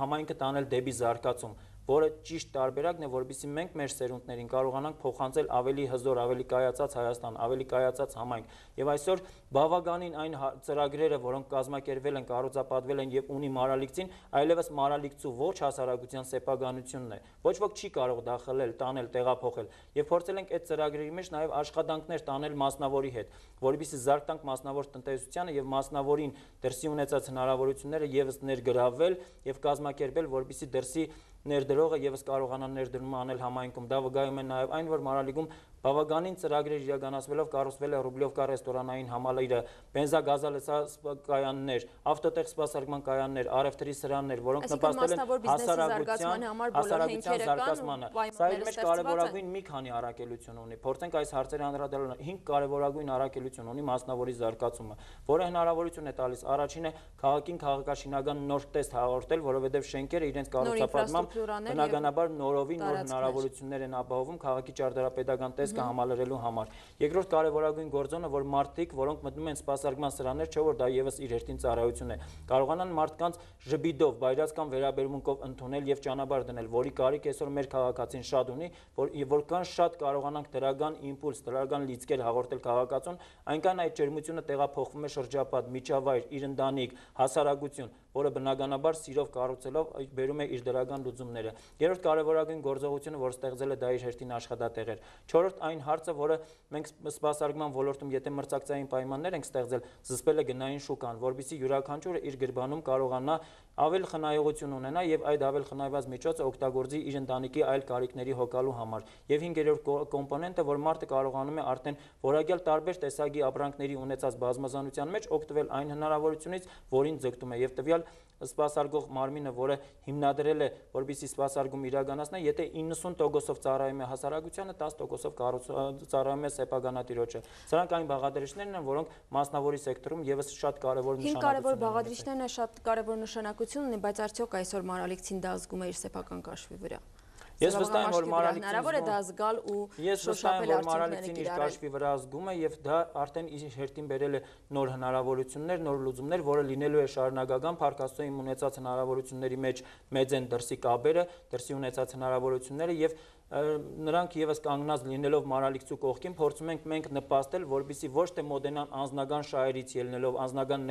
[SPEAKER 2] համայնքը տանել դեպի զարգացում, որը ճիշտ տարբերակն է, որպեսզի մենք մեր սերունդներին կարողանանք փոխանցել ավելի հզոր, ավելի կայացած Հայաստան, ավելի կայացած համայնք։ Եվ այսօր բավականին այն ծրագրերը, որոնք կազմակերպվել են, կառուցապատվել են եւ ունի Մարալիկցին, այլևս Մարալիկցու ոչ հասարակության սեփականությունն է։ Ոչ ոք չի կարող դա խլել, տանել, տեղափոխել։ Եվ փորձել ենք այդ ծրագրերի մեջ նաեւ աշխատանքներ տանել մասնավորի հետ, որպեսզի զարգանք մասնավոր տնտեսությանը եւ մասնավորին դրսի ունեցած հնարավորությունները եւս ներգրավել եւ կազմակերպել, որպեսզի դրսի ներդրողը եւս կարողանա ներդրում անել համայնքում։ Դա վկայում է նաեւ այն, որ Մարալիկում բավականին ծրագրեր իրականացվելով կառուցվել է Ռուբլիովկա ռեստորանային համալիրը, բենզագազալեցված կայաններ, ավտոտեղ սպասարկման կայաններ, առևտրի սրաններ, որոնք նպաստել են հասարակության հասարակության զարգացմանը։ Սա իր մեջ կարևորագույն մի քանի առաքելություն ունի։ Փորձենք այս հարցերը անդրադառնալ։ հինգ կարևորագույն առաքելություն ունի մասնավորի զարգացումը, որը հնարավորություն է տալիս առաջինը քաղաքին քաղաքաշինական նոր տեստ հաղորդել, որովհետև շենքերը իրենց կառուցապատմամբ բնականաբար նորովի նոր հնարավորություններ են ապահովում քաղաքի ճարտարապետական տեսքը համալրելու համար։ Երկրորդ կարևորագույն գործոնը, որ մարդիկ, որոնք մտնում են սպասարկման սրաներ, չէ որ դա եւս իր հերթին ծառայություն է, կարողանան մարդկանց ժպիտով, բայրացկան վերաբերմունքով ընդունել եւ ճանապարհ դնել, որի կարիք այսօր մեր քաղաքացին շատ ունի, որ որքան շատ կարողանանք դրական իմպուլս, դրական լիցքեր հաղորդել քաղաքացուն, այնքան այդ ջերմությունը տեղափոխվում է շրջապատ, միջավայր, իր ընտանիք, հասարակություն, որը բնականաբար սիրով կառուցելով բերում է իր դրական լուծումները։ Երրորդ կարևորագույն գործողությունը, որ ստեղծել է, դա իր հերթին աշխատատեղեր։ Չորրորդ այն հարցը, որը մենք սպասարկման ոլորտում, եթե մրցակցային պայմաններ ենք ստեղծել, զսպել է գնային շուկան, որպեսզի յուրաքանչյուրը իր գրբանում կարողանա ավել խնայողություն ունենա եւ այդ ավել խնայված միջոցը օգտագործի իր ընտանիքի այլ կարիքների հոգալու համար։ Եվ հինգերորդ կոմպոնենտը, որ մարդը կարողանում է արդեն որակյալ տարբեր տեսակի ապրանքների ունեցած բազմազանության մեջ օգտվել այն հնարավորությունից, որին ձգտում է եւ տվյալ սպասարկող մարմինը, որը հիմնադրել է, որպեսզի սպասարկում իրականացնի, եթե իննսուն տոկոսով ծառայում է հասարակությանը, տասը տոկոսով ծառայում է սեփականատիրոջը։ Սրանք այն բաղադրիչներն են, որոնք մասնավորի սեկտորում եւս շատ կարևոր նշանակություն ունեն։
[SPEAKER 1] Հին կարևոր բաղադրիչներն է, շատ կարևոր նշանակություն ունի, բայց արդյոք այսօր Մարալիկցին դա զգում է իր սեփական կաշվի վրա։
[SPEAKER 2] Ես վստահ եմ, որ Մարալիկցին
[SPEAKER 1] հնարավոր է դա զգալ ու
[SPEAKER 2] Ես վստահ եմ, որ Մարալիկցին իր կաշվի վրա զգում է եւ դա արդեն իր հերթին բերել է նոր հնարավորություններ, նոր լուծումներ, որը լինելու է շարունակական Փառք Աստծո իմ ունեցած հնարավորությունների մեջ մեծ են դրսի կապերը, դրսի ունեցած հնարավորությունները եւ նրանք եւս կանգնած լինելով Մարալիկցու կողքին փորձում ենք մենք նպաստել, որպեսզի ոչ թե մոդենան անձնական շահերից ելնելով, անձնական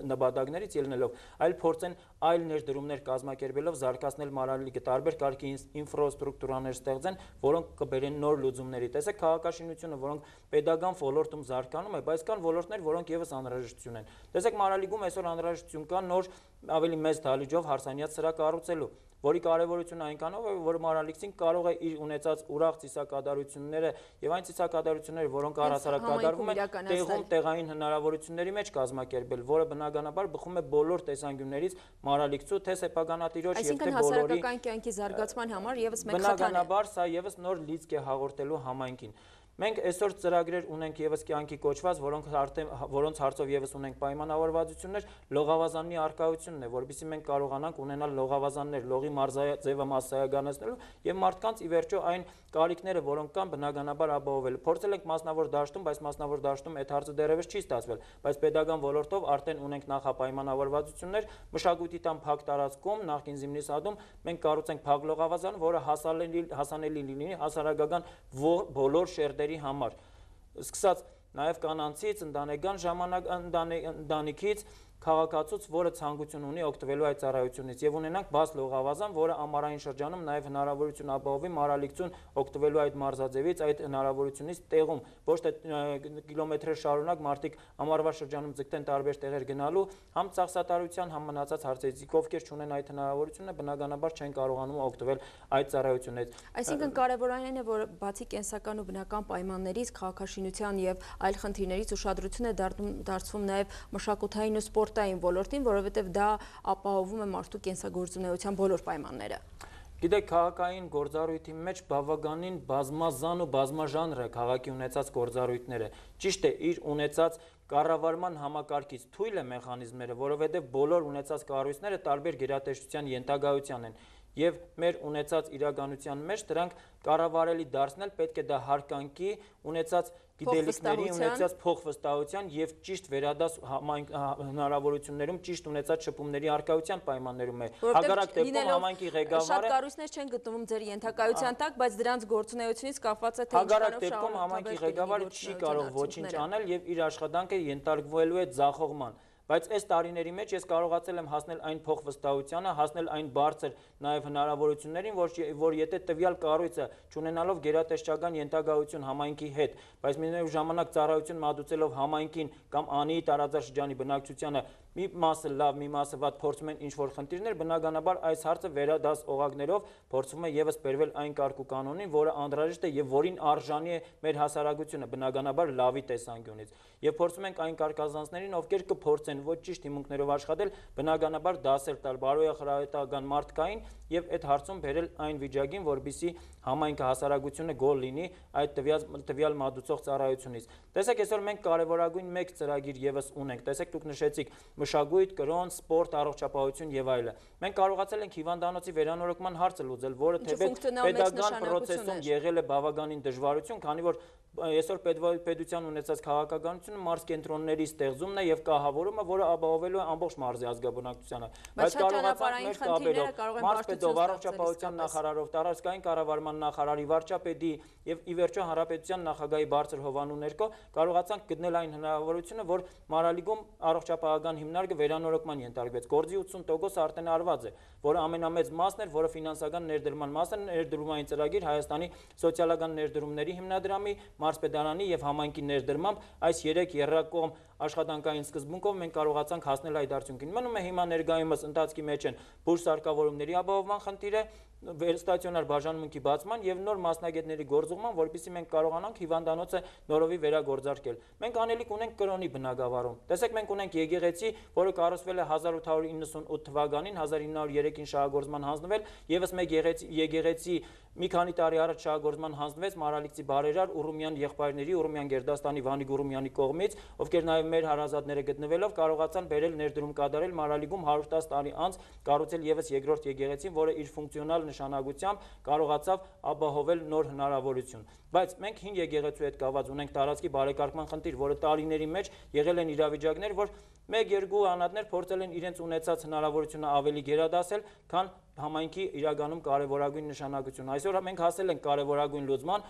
[SPEAKER 2] նպատակներից ելնելով, այլ փորձեն այլ ներդրումներ կազմակերպելով զարգացնել Մարալիկը, տարբեր կարգի ինֆրաստրուկտուրաներ ստեղծեն, որոնք կբերեն նոր լուծումների։ Տեսեք քաղաքաշինությունը, որոնք pedagogan ոլորտում զարգանում է, բայց կան ոլորտներ, որոնք եւս անհրաժեշտություն են։ Տեսեք Մարալիկում այսօր անհրաժեշտություն կա նոր ավելի մեծ դահլիճով հարսանյաց սրահ կառուցելու, որի կարևորությունը այնքանով է, որ Մարալիքսին կարող է իր ունեցած ուրախ ծիսակատարությունները եւ այն ծիսակատարությունները, որոնք առհասարակ կատարվում են, տեղում տեղային հնարավորությունների մեջ կազմակերպել, որը բնականաբար բխում է բոլոր տեսանկյուններից Մարալիքսու թե սեփականատիրոջ եւ թե բոլորի
[SPEAKER 1] հասարակական կյանքի զարգացման համար եւս մեկ խթան է։
[SPEAKER 2] Բնականաբար սա եւս նոր լիցք է հաղորդելու համայնքին։ Մենք այսօր ծրագրեր ունենք եւս կյանքի կոչված, որոնք արդեն որոնց հարցով եւս ունենք պայմանավորվածություններ, լողավազանի արկայությունն է, որովհետեւ մենք կարողանանք ունենալ լողավազաններ, լողի մարզաձևը massայականացնելու եւ մարդկանց ի վերջո այն կարիքները, որոնք կան, բնականաբար ապահովել։ Փորձել ենք մասնավոր դաշտում, բայց մասնավոր դաշտում այդ հարցը դեռևս չի ստացվել, բայց pedagogan ոլորտով արդեն ունենք նախապայմանավորվածություններ, մշակույթի տան փակ տարածքում, նախկին Զիմնիսադում մենք կառուցենք փակ լողավազան, որը հասանելի հասանելի լինի հասարակական բոլոր շերտերի համար, սկսած նաև կանանցից, ընտանեկան ժամանակ ընտանիքից, քաղաքացուց, որը ցանկություն ունի օգտվելու այդ ծառայությունից եւ ունենանք բաց լողավազան, որը ամառային շրջանում նաև հնարավորություն ապահովի Մարալիքսուն օգտվելու այդ մարզաձևից, այդ հնարավորությունից տեղում, ոչ թե կիլոմետրեր շարունակ մարդիկ ամառվա շրջանում ձգտեն տարբեր տեղեր գնալու, համ ծախսատարության, համ մնացած հարցերից, ովքեր չունեն այդ հնարավորությունը, բնականաբար չեն կարողանում օգտվել այդ ծառայությունից։
[SPEAKER 1] Այսինքն կարևորն այն է, որ բացի կենսական ու բնական պայմաններից, քաղաքաշինության եւ այլ խնդիրներից ուշադրություն է դարձվում նաև մշակութային ու սպորտային ոլորտին, որովհետև դա ապահովում է մարդու կենսագործունեության բոլոր պայմանները։
[SPEAKER 2] Գիտեք, քաղաքային գործառույթի մեջ բավականին բազմազան ու բազմաժանր է քաղաքի ունեցած գործառույթները։ Ճիշտ է, իր ունեցած կառավարման համակարգից թույլ է մեխանիզմները, որովհետև բոլոր ունեցած կառույցները տարբեր գերատեսչության ենթակայության են։ Եվ մեր ունեցած իրականության մեջ դրանք կառավարելի դարձնել պետք է դա հարկանքի ունեցած գիտելիքների, ունեցած փոխվստահության եւ ճիշտ վերադաս հնարավորություններում ճիշտ ունեցած շփումների արկայության պայմաններում է։ Հակառակ դեպքում համայնքի ղեկավարը
[SPEAKER 1] շատ կառույցներ չեն գտնվում ձեր ենթակայության տակ, բայց դրանց գործունեությունից կապված է թե
[SPEAKER 2] հակառակ դեպքում համայնքի ղեկավարը չի կարող ոչինչ անել եւ իր աշխատանքը ենթարկվելու է ձախողման։ Բայց այս տարիների մեջ ես կարողացել եմ հասնել այն փոխվստահությանը, հասնել այն բարձր նաև հնարավորություններին, որ, որ եթե տվյալ կառույցը չունենալով գերատեսչական ենթակայություն համայնքի հետ, բայց միևնույն ժամանակ ծառայություն մատուցելով համայնքին կամ Անիի տարածաշրջանի բնակչությանը մի մասը լավ, մի մասը վատ փորձում են ինչ-որ խնդիրներ, բնականաբար այս հարցը վերադաս օղակներով փորձվում է եւս բերվել այն կարգ ու կանոնին, որը անհրաժեշտ է եւ որին արժանի է մեր հասարակությունը, բնականաբար լավի տեսանկյունից։ Եվ փորձում ենք այն կարգազանցներին, ովքեր կփորձեն ոչ ճիշտ հիմունքներով աշխատել, բնականաբար դասեր տալ բարոյախրատական մարդկային եւ այդ հարցում բերել այն վիճակին, որբիսի համայնքը հասարակությունը գոլ լինի այդ տվյալ տվյալ մատուցող ծառայությունից։ Տեսեք, այսօր մենք կարևորագույն մեկ ծրագիր եւս ունենք։ Տեսեք, դուք նշեցիք մշակույթ, կրոն, սպորտ, առողջապահություն եւ այլը։ Մենք կարողացել ենք հիվանդանոցի վերանորոգման հարցը լուծել, որը թեպետ պետական պրոցեսում եղել է բավականին դժվարություն, քանի որ այսօր պետության ունեցած քաղաքականությունը մարզ կենտրոնների ստեղծումն է եւ կահավորումը, որը ապահովելու է ամբողջ մարզի ազգաբնակչությանը։ Բայց կարողացանք մեր կապերով, մարզպետով, առողջապահության նախարարով, տարածքային կառավարման նախարարի, վարչապետի եւ ի վերջո հանրապետության նախագահի բարձր հովանու ներքո կարողացանք գտնել այն հնարավորությունը, որ Մարալիքում առողջապահական հիմնարկը վերանորոգման ենթարկվեց։ Գործի ութսուն տոկոս արդեն արված է, որը ամենամեծ մասն էր, որը ֆինանսական ներդրման մասն է, ներդրումային ծրագիր Հայաստանի սոցիալական ներդրումների հիմնադրամի, մարզպետարանի եւ համայնքի ներդրմամբ այս երեք եռակողմ աշխատանքային սկզբունքով մենք կարողացանք հասնել այդ արդյունքին։ Մնում է հիմա ներկայումս ընթացքի մեջ են բուրս արկավորումների ապահովման խնդիրը, վերստացիոնար բաժանմունքի բացման եւ նոր մասնագետների գործուղման, որպեսզի մենք կարողանանք հիվանդանոցը նորովի վերագործարկել։ Մենք անելիք ունենք կրոնի բնակավարում։ Տեսեք, մենք ունենք եկեղեցի, որը կառուցվել է հազար ութ հարյուր իննսունութ թվականին, հազար ինը հարյուր երեքին շահագործման հանձնվել, եւս մեկ եկեղեցի մի քանի տարի առաջ շահագործման հանձնվեց Մարալիքցի բարերար Ուրումյան եղբայրների, Ուրումյան Գերդաստանի Վանիկ Ուրումյանի կողմից, ովքեր նաեւ մեր հարազատները գտնվելով կարողացան բերել ներդրում կատարել Մարալիքում հարյուր տասը տարի անց կառուցել եւս երկրորդ եկեղեցին, որը իր ֆունկցիոնալ նշանակությամբ կարողացավ ապահովել նոր հնարավորություն։ Բայց մենք հին եկեղեցու հետ կապված ունենք տարածքի բարեկարգման խնդիր, որը տարիների մեջ եղել են իրավիճակներ, որ մեկ-երկու անհատներ փորձել են իրենց ունեցած հնարավորությունը ավելի գերադասել, քան համայնքի իրականում կարևորագույն նշանակություն։ Այսօր մենք հասել ենք կարևորագույն լուծման,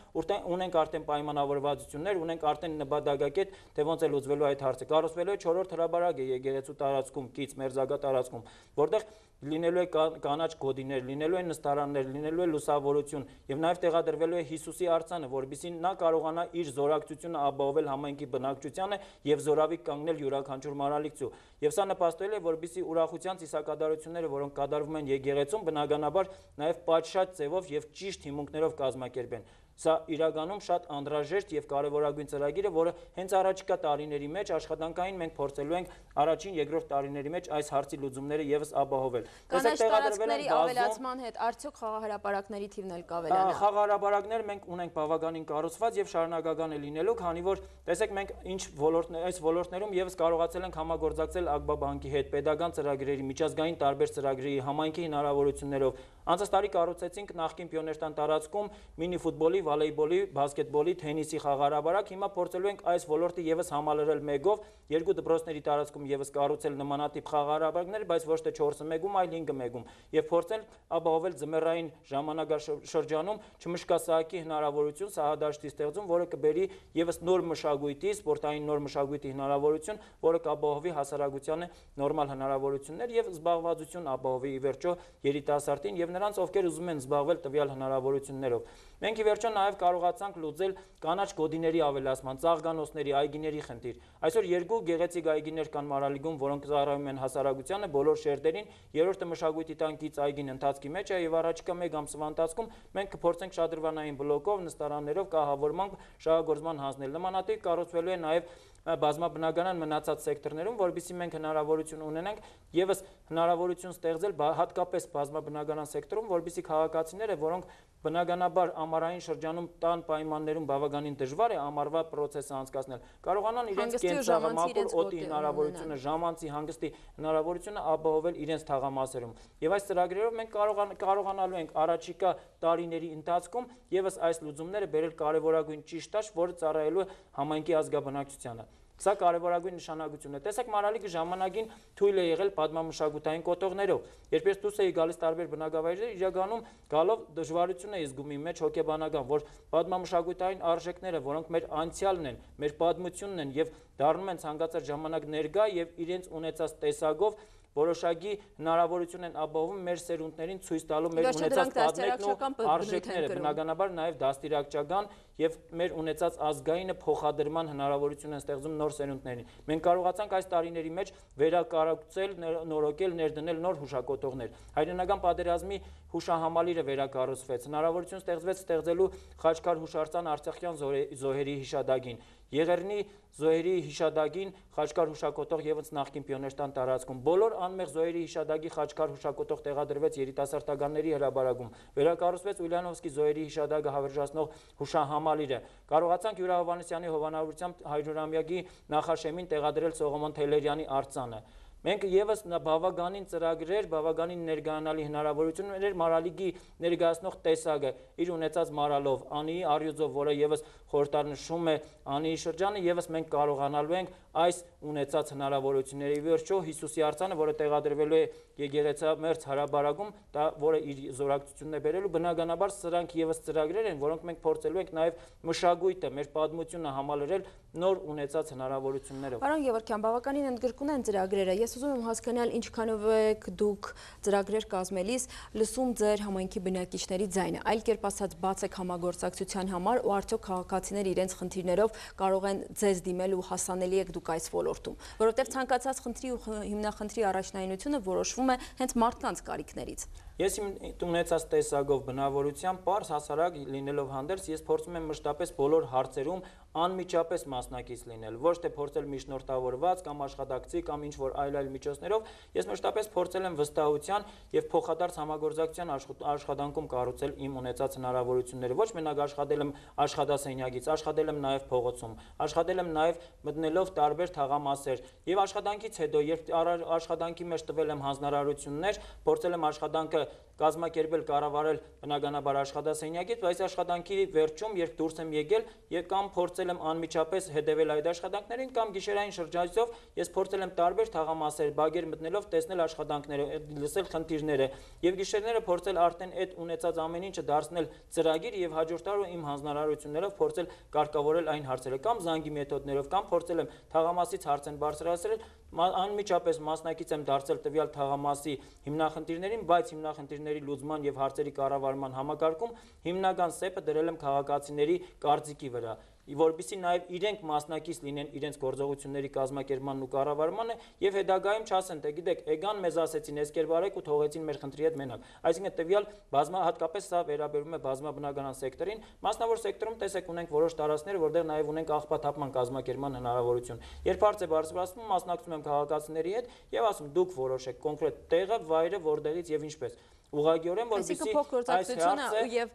[SPEAKER 2] ունենք արդեն պայմանավորվածություններ, ունենք արդեն նպատակակետ, թե ոնց է լուծվելու այդ հարցը։ Կառուցվելու է չորրորդ հրաբարակ է եկեղեցու տարածքում, կից մերձակա տարածքում, որտեղ լինելու է կանաչ գոտիներ, լինելու է նստարաններ, լինելու է լուսավորություն եւ նաեւ տեղադրվելու է Հիսուսի արձանը, որովհետեւ նա կարողանա իր զորակցությունը ապահովել համայնքի բնակչությանը եւ զորավի կանգնել յուրաքանչյուր Մարալիքսի դահլիճու։ Եվ սա նպաստել է, որպեսզի ուրախության ծիսակատարությունները, որոնք կատարվում են եկեղեցում, բնականաբար նաև պատշաճ ձևով եւ ճիշտ հիմունքներով կազմակերպեն։ Սա իրականում շատ անդրաժեշտ եւ կարեւորագույն ծրագիր է, որը հենց առաջիկա տարիների մեջ աշխատանքային մենք փորձելու ենք առաջին, երկրորդ տարիների մեջ այս հարցի լուծումները եւս ապահովել։
[SPEAKER 1] Կանաչ տարածքների ավելացման հետ արդյոք խաղահրապարակների թիվն էլ կավելանա։
[SPEAKER 2] Խաղահրապարակներ մենք ունենք բավականին կառուցված եւ շարունակական է լինելու, քանի որ տեսեք մենք ինչ ոլորտներ, այս ոլորտներում եւս կարողացել ենք համագործակցել Ագբա բանկի հետ, պետական ծրագրերի, միջազգային տարբեր ծրագրերի, համայնքի հնարավորություններով։ Անցած տարի կառուցեցինք նախկին Պիոներտան տարածքում մինի ֆուտբոլի, վոլեյբոլի, բասկետբոլի, թենիսի խաղահրապարակ։ Հիմա փորձելու ենք այս ոլորտը եւս համալրել մեկով, երկու դպրոցների տարածքում եւս կառուցել նմանատիպ խաղահրապարակներ, բայց ոչ թե չորսը մեկում, այլ հինգը մեկում, եւ փորձել ապահովել ձմեռային ժամանակաշրջանում չմշկասահակի հնարավորություն սահադաշտի ստեղծում, որը կբերի եւս նոր մշակույթի, սպորտային նոր մշակույթի հնարավորություն, որը կապահովի հասարակությանը նորմալ հնարավորություններ եւ զբաղվածություն ապահովի ի վերջո երիտասարդին եւ նրանց, ովքեր ուզում են զբաղվել տվյալ հնարավորություններով։ Մենք ի վերջո նաև կարողացանք լուծել կանաչ գոտիների ավելացման, ծաղկանոցների, այգիների խնդիր։ Այսօր երկու գեղեցիկ այգիներ կան Մարալիգում, որոնք ծառայում են հասարակությանը, բոլոր շերտերին։ Երրորդը մշակույթի տանկից այգին ընթացքի մեջ է եւ առաջիկա մեկ ամսվա ընթացքում մենք կփորձենք շատրվանային բլոկով, նստարաններով, կահավորման, շահագործման հանձնել։ Նմանատիպ կառուցվելու է նաև բազմաբնականան մնացած սեկտորներում, որովհետեւ մենք հնարավորություն ունենանք եւս հնարավորություն ստեղծել հատկապես բազմաբնականան սեկտորում, որովհետեւ քաղաքացիները, որոնք բնականաբար ամառային շրջանում տան պայմաններում բավականին դժվար է ամառվա process-ը անցկացնել, կարողանան իրենց կենցաղամակուր օդի հնարավորությունը, ժամանցի հանգստի հնարավորությունը ապահովել իրենց թաղամասերում։ Եվ այս ծրագրերով մենք կարողանալու ենք առաջիկա տարիների ընթացքում եւս այս լուծումները բերել կարեւորագույն ճիշտ տաշ, որը ծառայելու է համայնքի ազգաբնակչությանը։ Սա կարևորագույն նշանակություն է։ Տեսեք, Մարալիկը ժամանակին թույլ է եղել պատմամշակութային կոթողներով։ Երբ ես դուրս էի գալիս տարբեր բնակավայրեր, իրականում գալով դժվարություն էի զգում իմ մեջ հոգեբանական, որ պատմամշակութային արժեքները, որոնք մեր անցյալն են, մեր պատմությունն են եւ դառնում են ցանկացած ժամանակ ներկա եւ իրենց ունեցած տեսակով որոշակի հնարավորություն են ապահովում մեր սերունդներին ցույց տալու մեր ունեցած պատմությունն ու արժեքները, բնականաբար նաև դաստիարակչական եւ մեր ունեցած ազգայինը փոխադրման հնարավորություն են ստեղծում նոր սերունդներին։ Մենք կարողացանք այս տարիների մեջ վերակառուցել, նորոգել, ներդնել նոր հուշակոթողներ։ Հայրենական պատերազմի հուշահամալիրը վերակառուցվեց, հնարավորություն ստեղծվեց ստեղծելու Խաչքար հուշարձան արցախյան զոհերի հիշադակին, Եղեռնի զոհերի հիշադակին Խաչքար հուշակոթող եւս նախկին Պիոներտան տարածքում, բոլոր անմեղ զոհերի հիշադակի Խաչքար հուշակոթող տեղադրվեց երիտասարդականների հրապարակում, վերակառուցվեց Ուլյանովսկի զոհերի հիշադակը հավերժացնող հուշահամալիրը, կարողացանք Յուրա Հովհաննիսյանի հովանավորությամբ հարյուրամյակի նախաշեմին տեղադրել Սողոմոն Թեյլերյանի արձանը։ Մենք եւս բավականին ծրագրեր, բավականին ներգանալի հնարավորություններ Մարալիգի ներկայացնող տեսակը իր ունեցած մարալով, Անիի առյուծով, որը եւս խորհրդանշում է Անիի շրջանը, եւս մենք կարողանալու ենք այս ունեցած հնարավորությունների վերջո Հիսուսի արձանը, որը տեղադրվելու է եկեղեցամերձ հրապարակում, դա որը իր զորակցությունն է բերելու, բնականաբար սրանք եւս ծրագրեր են, որոնք մենք փորձելու ենք նաեւ մշակույթը, մեր պատմությունը համալրել նոր ունեցած հնարավորություններով։
[SPEAKER 1] Պարոն Գևորգյան, բավականին ընդգրկուն են ծրագրերը։ Ես ուզում եմ հասկանալ ինչքանով եք դուք ծրագրեր կազմելիս լսում ձեր համայնքի բնակիչների ձայնը, այլ կերպ ասած բաց եք համագործակցության համար ու արդյոք քաղաքացիները իրենց խնդիրներով կարող են ձեզ դիմել ու հասանելի եք դուք այս ոլորտում, որովհետև ցանկացած խնդրի ու հիմնախնդրի առաջնայինությունը որոշվում է հենց մարդկանց կարիքներից։
[SPEAKER 2] Ես իմ ունեցած տեսակով բնավորությամբ պարզ հասարակ լինելով հանդերձ, ես փորձում եմ մշտապես բոլոր հարցերում անմիջապես մասնակից լինել, ոչ թե փորձել միջնորդավորված կամ աշխատակցի կամ ինչ որ այլ այլ միջոցներով, ես մշտապես փորձել եմ վստահության եւ փոխադարձ համագործակցության աշխատանքում կառուցել իմ ունեցած հնարավորությունները, ոչ մենակ աշխատել եմ աշխատասենյակից, աշխատել եմ նաեւ փողոցում, աշխատել եմ նաեւ մտնելով տարբեր թաղամասեր եւ աշխատանքից հետո, երբ աշխատանքի մեջ տվել եմ հանձնարարություններ, փորձել եմ աշխատանքը կազմակերպել, կառավարել բնականաբար աշխատասենյակից, բայց աշխատանքի վերջում, երբ դուրս եմ եկել, եւ կամ փորձել եմ անմիջապես հետևել այդ աշխատանքներին, կամ գիշերային շրջանցով ես փորձել եմ տարբեր թաղամասեր, բագեր մտնելով տեսնել աշխատանքները, լսել խնդիրները, եւ գիշերները փորձել արդեն այդ ունեցած ամեն ինչը դարձնել ծրագիր եւ հաջորդ տարի իմ հանձնարարություններով փորձել կարգավորել այն հարցերը, կամ զանգի մեթոդներով, կամ փորձել եմ թաղամասից հարց են բարձրացրել, անմիջապես մասնակից եմ դարձել տվյալ թաղամասի հիմնախնդիրներին, բայց հիմնախնդիրների լուծման եւ հարցերի կառավարման համակարգում հիմնական սեպը դրել եմ քաղաքացիների կարծիքի վրա։ որպեսզի նաև իրենք մասնակից լինեն իրենց գործողությունների կազմակերպմանն ու կառավարմանը եւ հետագայում չասեն, թե գիտեք, եկան մեզ ասեցին, էս կերպ արեք ու թողեցին մեր խնդրի հետ մենակ։ Այսինքն տվյալ բազմա հատկապես սա վերաբերում է բազմաբնականան սեկտորին, մասնավոր սեկտորում տեսեք ունենք որոշ տարածքներ, որտեղ նաև ունենք աղբաթափման կազմակերպման հնարավորություն։ Երբ հարց է բարձրացվում, մասնակցում եմ քաղաքացիների հետ եւ ասում դուք որոշեք կոնկրետ տեղը, վայրը, որտեղից եւ ինչպես։ Ուղղակիորեն որպեսզի
[SPEAKER 1] այս հարցը եւ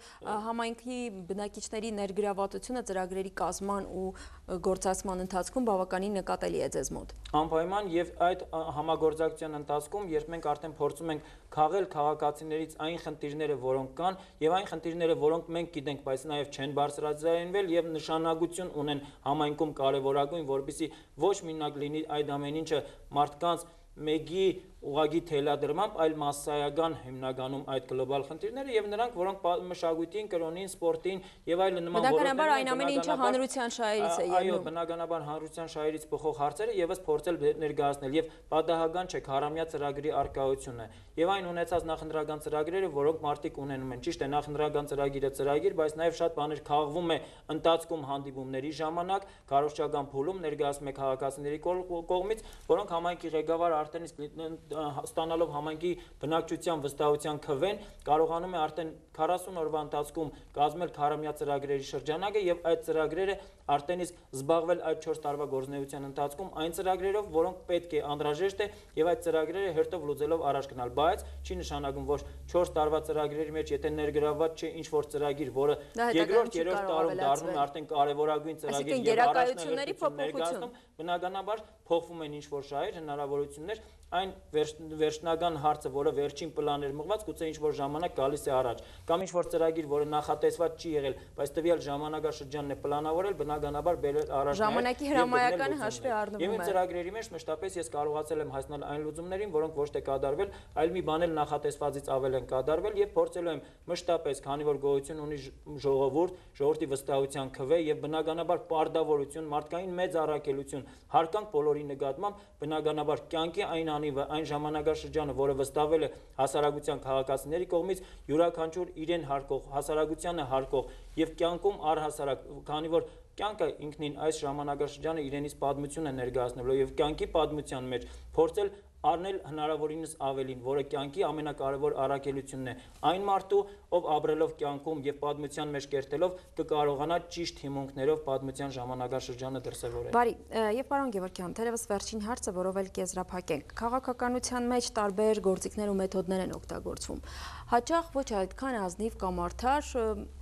[SPEAKER 1] համայնքի բնակիչների ներգրավվածությունը ծրագրերի կազմման ու գործածման ընթացքում բավականին նկատելի է ձեզ մոտ։
[SPEAKER 2] Անպայման եւ այդ համագործակցության ընթացքում, երբ մենք արդեն փորձում ենք քաղել քաղաքացիներից այն խնդիրները, որոնք կան, եւ այն խնդիրները, որոնք մենք գիտենք, բայց նաեւ չեն բարձրաձայնվել եւ նշանակություն ունեն համայնքում կարեւորագույն, որպեսզի ոչ մենակ լինի այդ ամեն ինչը մարդկանց մեկի ուղագի թելադրմամբ, այլ մասսայական հիմնականում այդ գլոբալ խնդիրները եւ նրանք, որոնք մշակույթին, կրոնին, սպորտին եւ այլ նման
[SPEAKER 1] բնականաբար այն ամենը ինչը հանրության շահերից է
[SPEAKER 2] ելնում։ Այո, բնականաբար հանրության շահերից բխող հարցերը եւս փորձել ներկայացնել եւ պատահական չէ քարամյա ծրագրի արկայությունը եւ այն ունեցած նախընտրական ծրագրերը, որոնք մարդիկ ունենում են։ Ճիշտ է, նախընտրական ծրագիրը ծրագիր, բայց նաեւ շատ բաներ քաղվում է ընթացքում հանդիպումների ժամանակ, քարոզչական փուլում ներկայացում է քաղաքացիների կողմից, որոնք համայնքի ղեկավարը արդեն իսկ ստանալով համայնքի բնակչության վստահության քվեն կարողանում է արդեն քառասուն օրվա ընթացքում կազմել քարամյա ծրագրերի շրջանակը եւ այդ ծրագրերը արդեն իսկ զբաղվել այդ չորս տարվա գործունեության ընթացքում այն ծրագրերով, որոնք պետք է անհրաժեշտ է եւ այդ ծրագրերը հերթով լուծելով առաջ գնալ, բայց չի նշանակում, որ չորս տարվա ծրագրերի մեջ եթե ներգրավված չէ ինչ որ ծրագիր, որը երկրորդ, երրորդ տարում դառնում է արդեն կարևորագույն ծրագիր եւ
[SPEAKER 1] գերակայությունների փոփոխություն,
[SPEAKER 2] բնականաբար փոխվում են ինչ որ շահեր, հնարավորություններ, այն վերջնական հարցը, որը վերջին պլան էր մղված, գուցե ինչ որ ժամանակ գալիս է առաջ, կամ ինչ որ ծրագիր, որը նախատեսված չի եղել, բայց տվյալ ժամանակաշրջանն է պլանավորել, բնականաբար բերել առաջ
[SPEAKER 1] ժամանակի հրամայականը հաշվի առնվում է։
[SPEAKER 2] Եվ այդ ծրագրերի մեջ մշտապես ես կարողացել եմ հասնել այն լուծումներին, որոնք ոչ թե կատարվել, այլ մի բան էլ նախատեսվածից ավել են կատարվել եւ փորձելու եմ մշտապես, քանի որ գոյություն ունի ժողովուրդ, ժողովրդի վստահության քվե եւ բնականաբար պարտավորություն, մարդկային մեծ առաքելություն, հարկանք բոլորի նկատմամբ, բնականաբար կյանքի այն այն ժամանակաշրջանը, որը վստահվել է հասարակության քաղաքացիների կողմից, յուրաքանչյուր իրեն հարկող, հասարակությանը հարկող եւ կյանքում առհասարակ, քանի որ կյանքը ինքնին այս ժամանակաշրջանը իրենից պատմություն է ներկայացնելու եւ կյանքի պատմության մեջ փորձել առնել հնարավորինս ավելին, որը կյանքի ամենակարևոր առաքելությունն է։ Այն մարդու, ով ապրելով կյանքում եւ պատմության մեջ կերտելով կկարողանա ճիշտ հիմունքներով պատմության ժամանակաշրջանը դրսևորել։
[SPEAKER 1] Բարի, եւ պարոն Գևորգյան, թերևս վերջին հարցը, որով էլ կեզրափակենք։ Քաղաքականության մեջ տարբեր գործիքներ ու մեթոդներ են օգտագործվում։ Հաճախ ոչ այդքան ազնիվ կամ արդար,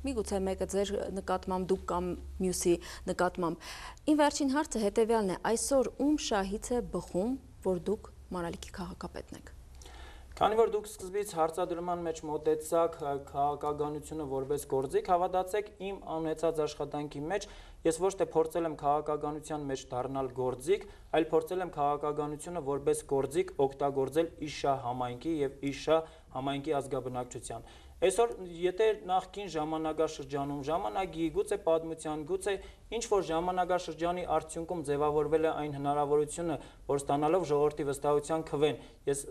[SPEAKER 1] միգուցե մեկը ձեր նկատմամբ, դուք կամ մյուսի նկատմամբ։ Իմ վերջին հարցը հետեւյալն է. այսօր ում շահից է բխում, որ դուք Մանալիքի քաղաքապետն եք։
[SPEAKER 2] Քանի որ դուք սկզբից հարցադրման մեջ մոտեցաք քաղաքականությունը որպես գործիք, հավատացեք իմ անունեցած աշխատանքի մեջ ես ոչ թե փորձել եմ քաղաքականության մեջ դառնալ գործիք, այլ փորձել եմ քաղաքականությունը որպես գործիք օգտագործել իշա համայնքի եւ իշա համայնքի ազգաբնակչության։ Այսօր եթե նախկին ժամանակաշրջանում ժամանակի գուցե պատմության գուցե ինչ որ ժամանակաշրջանի արդյունքում ձևավորվել է այն հնարավորությունը, որ ստանալով ժողովրդի վստահության քվեն, ես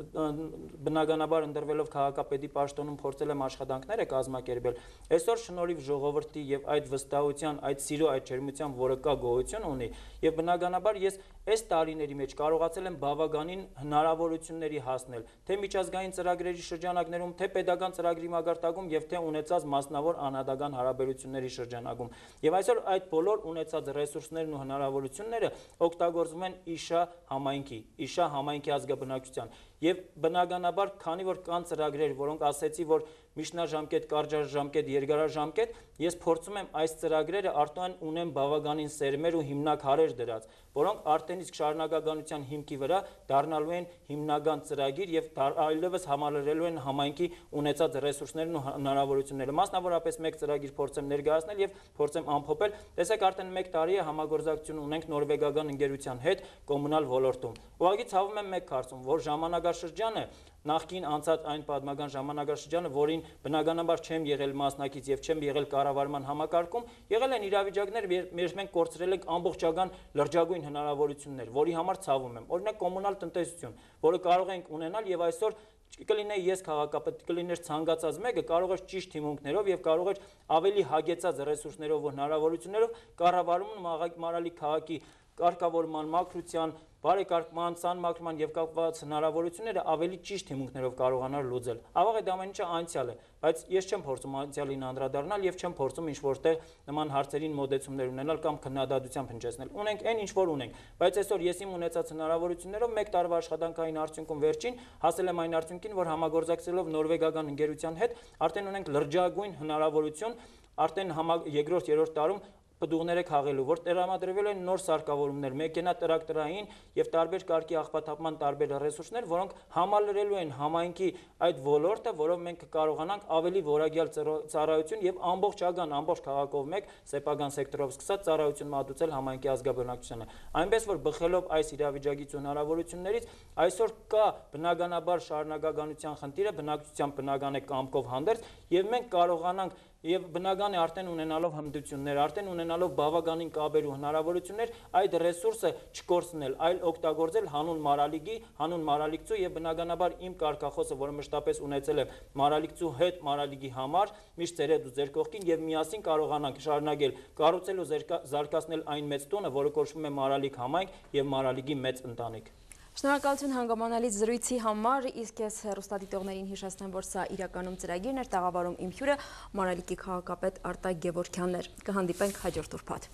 [SPEAKER 2] բնականաբար ընտրվելով քաղաքապետի պաշտոնում փորձել եմ աշխատանքները կազմակերպել, այսօր շնորհիվ ժողովրդի եւ այդ վստահության, այդ սիրո, այդ ջերմության, որը կա գոյություն ունի, եւ բնականաբար ես այս տարիների մեջ կարողացել եմ բավականին հնարավորությունների հասնել, թե միջազգային ծրագրերի շրջանակներում, թե պետական ծրագրի մակարդակում եւ թե ունեցած մասնավոր անհատական հարաբերությունների շրջանակում։ Եվ այսօր այդ բոլոր ունեցած ռեսուրսներն ու հնարավորությունները օգտագործվում են իշա համայնքի, իշա համայնքի ազգաբնակչության։ Եվ բնականաբար, քանի որ կան ծրագրեր, որոնք ասեցի, որ միջնաժամկետ, կարճաժամկետ, երկարաժամկետ, ես փորձում եմ այս ծրագրերը արտոն ունեմ բավականին սերմեր ու հիմնաքարեր դրած, որոնք արդեն իսկ շարունակականության հիմքի վրա դառնալու են հիմնական ծրագիր եւ այլևս համալրելու են համայնքի ունեցած ռեսուրսներն ու հնարավորությունները։ Մասնավորապես մեկ ծրագիր փորձեմ ներկայացնել եւ փորձեմ ամփոփել։ Տեսեք, արդեն մեկ տարի է համագործակցություն ունենք նորվեգական ընկերության հետ կոմունալ ոլորտում։ Ուղղակի ցավում եմ մեկ կարծում, որ ժամանակ ժամանակաշրջանը նախկին անցած այն պատմական ժամանակաշրջանը, որին բնականաբար չեմ եղել մասնակից եւ չեմ եղել կառավարման համակարգում, եղել են իրավիճակներ, մեր մենք կորցրել ենք ամբողջական լրջագույն հնարավորություններ, որի համար ցավում եմ։ Օրինակ կոմունալ տնտեսություն, որը կարող ենք ունենալ եւ այսօր կլինեի ես քաղաքապետ, կլիներ ցանկացած մեկը, կարող էր ճիշտ հիմունքներով եւ կարող էր ավելի հագեցած ռեսուրսներով ու հնարավորություններով կառավարումն Մարալիկ քաղաքի կարգավորման, մաքրության, բարեկարգման, սանմաքրման եւ կապված հնարավորությունները ավելի ճիշտ հիմունքներով կարողանալ լուծել։ Ավաղ այդ ամեն ինչը անցյալ է, բայց ես չեմ փորձում անցյալին անդրադառնալ եւ չեմ փորձում ինչ-որտեղ նման հարցերին մոդեցումներ ունենալ կամ քննադատությամբ հնչեցնել։ Ունենք այն ինչ որ ունենք, բայց այսօր ես իմ ունեցած հնարավորություններով մեկ տարվա աշխատանքային արդյունքում վերջին հասել եմ այն արդյունքին, որ համագործակցելով նորվեգական ընկերության հետ արդեն ունենք լրջագույն հնարավորություն, արդեն երկրորդ, երրորդ տարում պտուղները քաղելու, որ տրամադրվել են նոր սարքավորումներ, մեքենատրակտորային եւ տարբեր կարգի աղբաթափման տարբեր ռեսուրսներ, որոնք համալրելու են համայնքի այդ ոլորտը, որով մենք կարողանանք ավելի որակյալ ծառայություն եւ ամբողջական, ամբողջ քաղաքով մեկ սեփական սեկտորով սկսած ծառայություն մատուցել համայնքի ազգաբնակչությանը։ Այնպես որ բխելով այս իրավիճակից ու հնարավորություններից, այսօր կա բնականաբար շարունակականության խնդիրը, բնակչության բնական է կամքով հանդերձ եւ մենք կարողանանք եւ բնական է արդեն ունենալով հմտություններ, արդեն ունենալով բավականին կապեր ու հնարավորություններ այդ ռեսուրսը չկորցնել, այլ օգտագործել հանուն Մարալիկի, հանուն Մարալիկցու եւ բնականաբար իմ կարգախոսը, որը մշտապես ունեցել եմ Մարալիկցու հետ, Մարալիկի համար, միշտ ձեր հետ ու ձեր կողքին եւ միասին կարողանանք շարունակել կառուցել ու զարգացնել այն մեծ տունը, որը կոչվում է Մարալիկ համայնք եւ Մարալիկի մեծ ընտանիք։
[SPEAKER 1] Շնորհակալություն հանգամանալից զրույցի համար, իսկ ես հեռուստադիտողներին հիշեցնեմ, որ սա իրականում ծրագիրն էր, տաղավարում իմ հյուրը Մարալիկի քաղաքապետ Արտակ Գևորգյանն էր։ Կհանդիպենք հաջորդ ուրբաթ։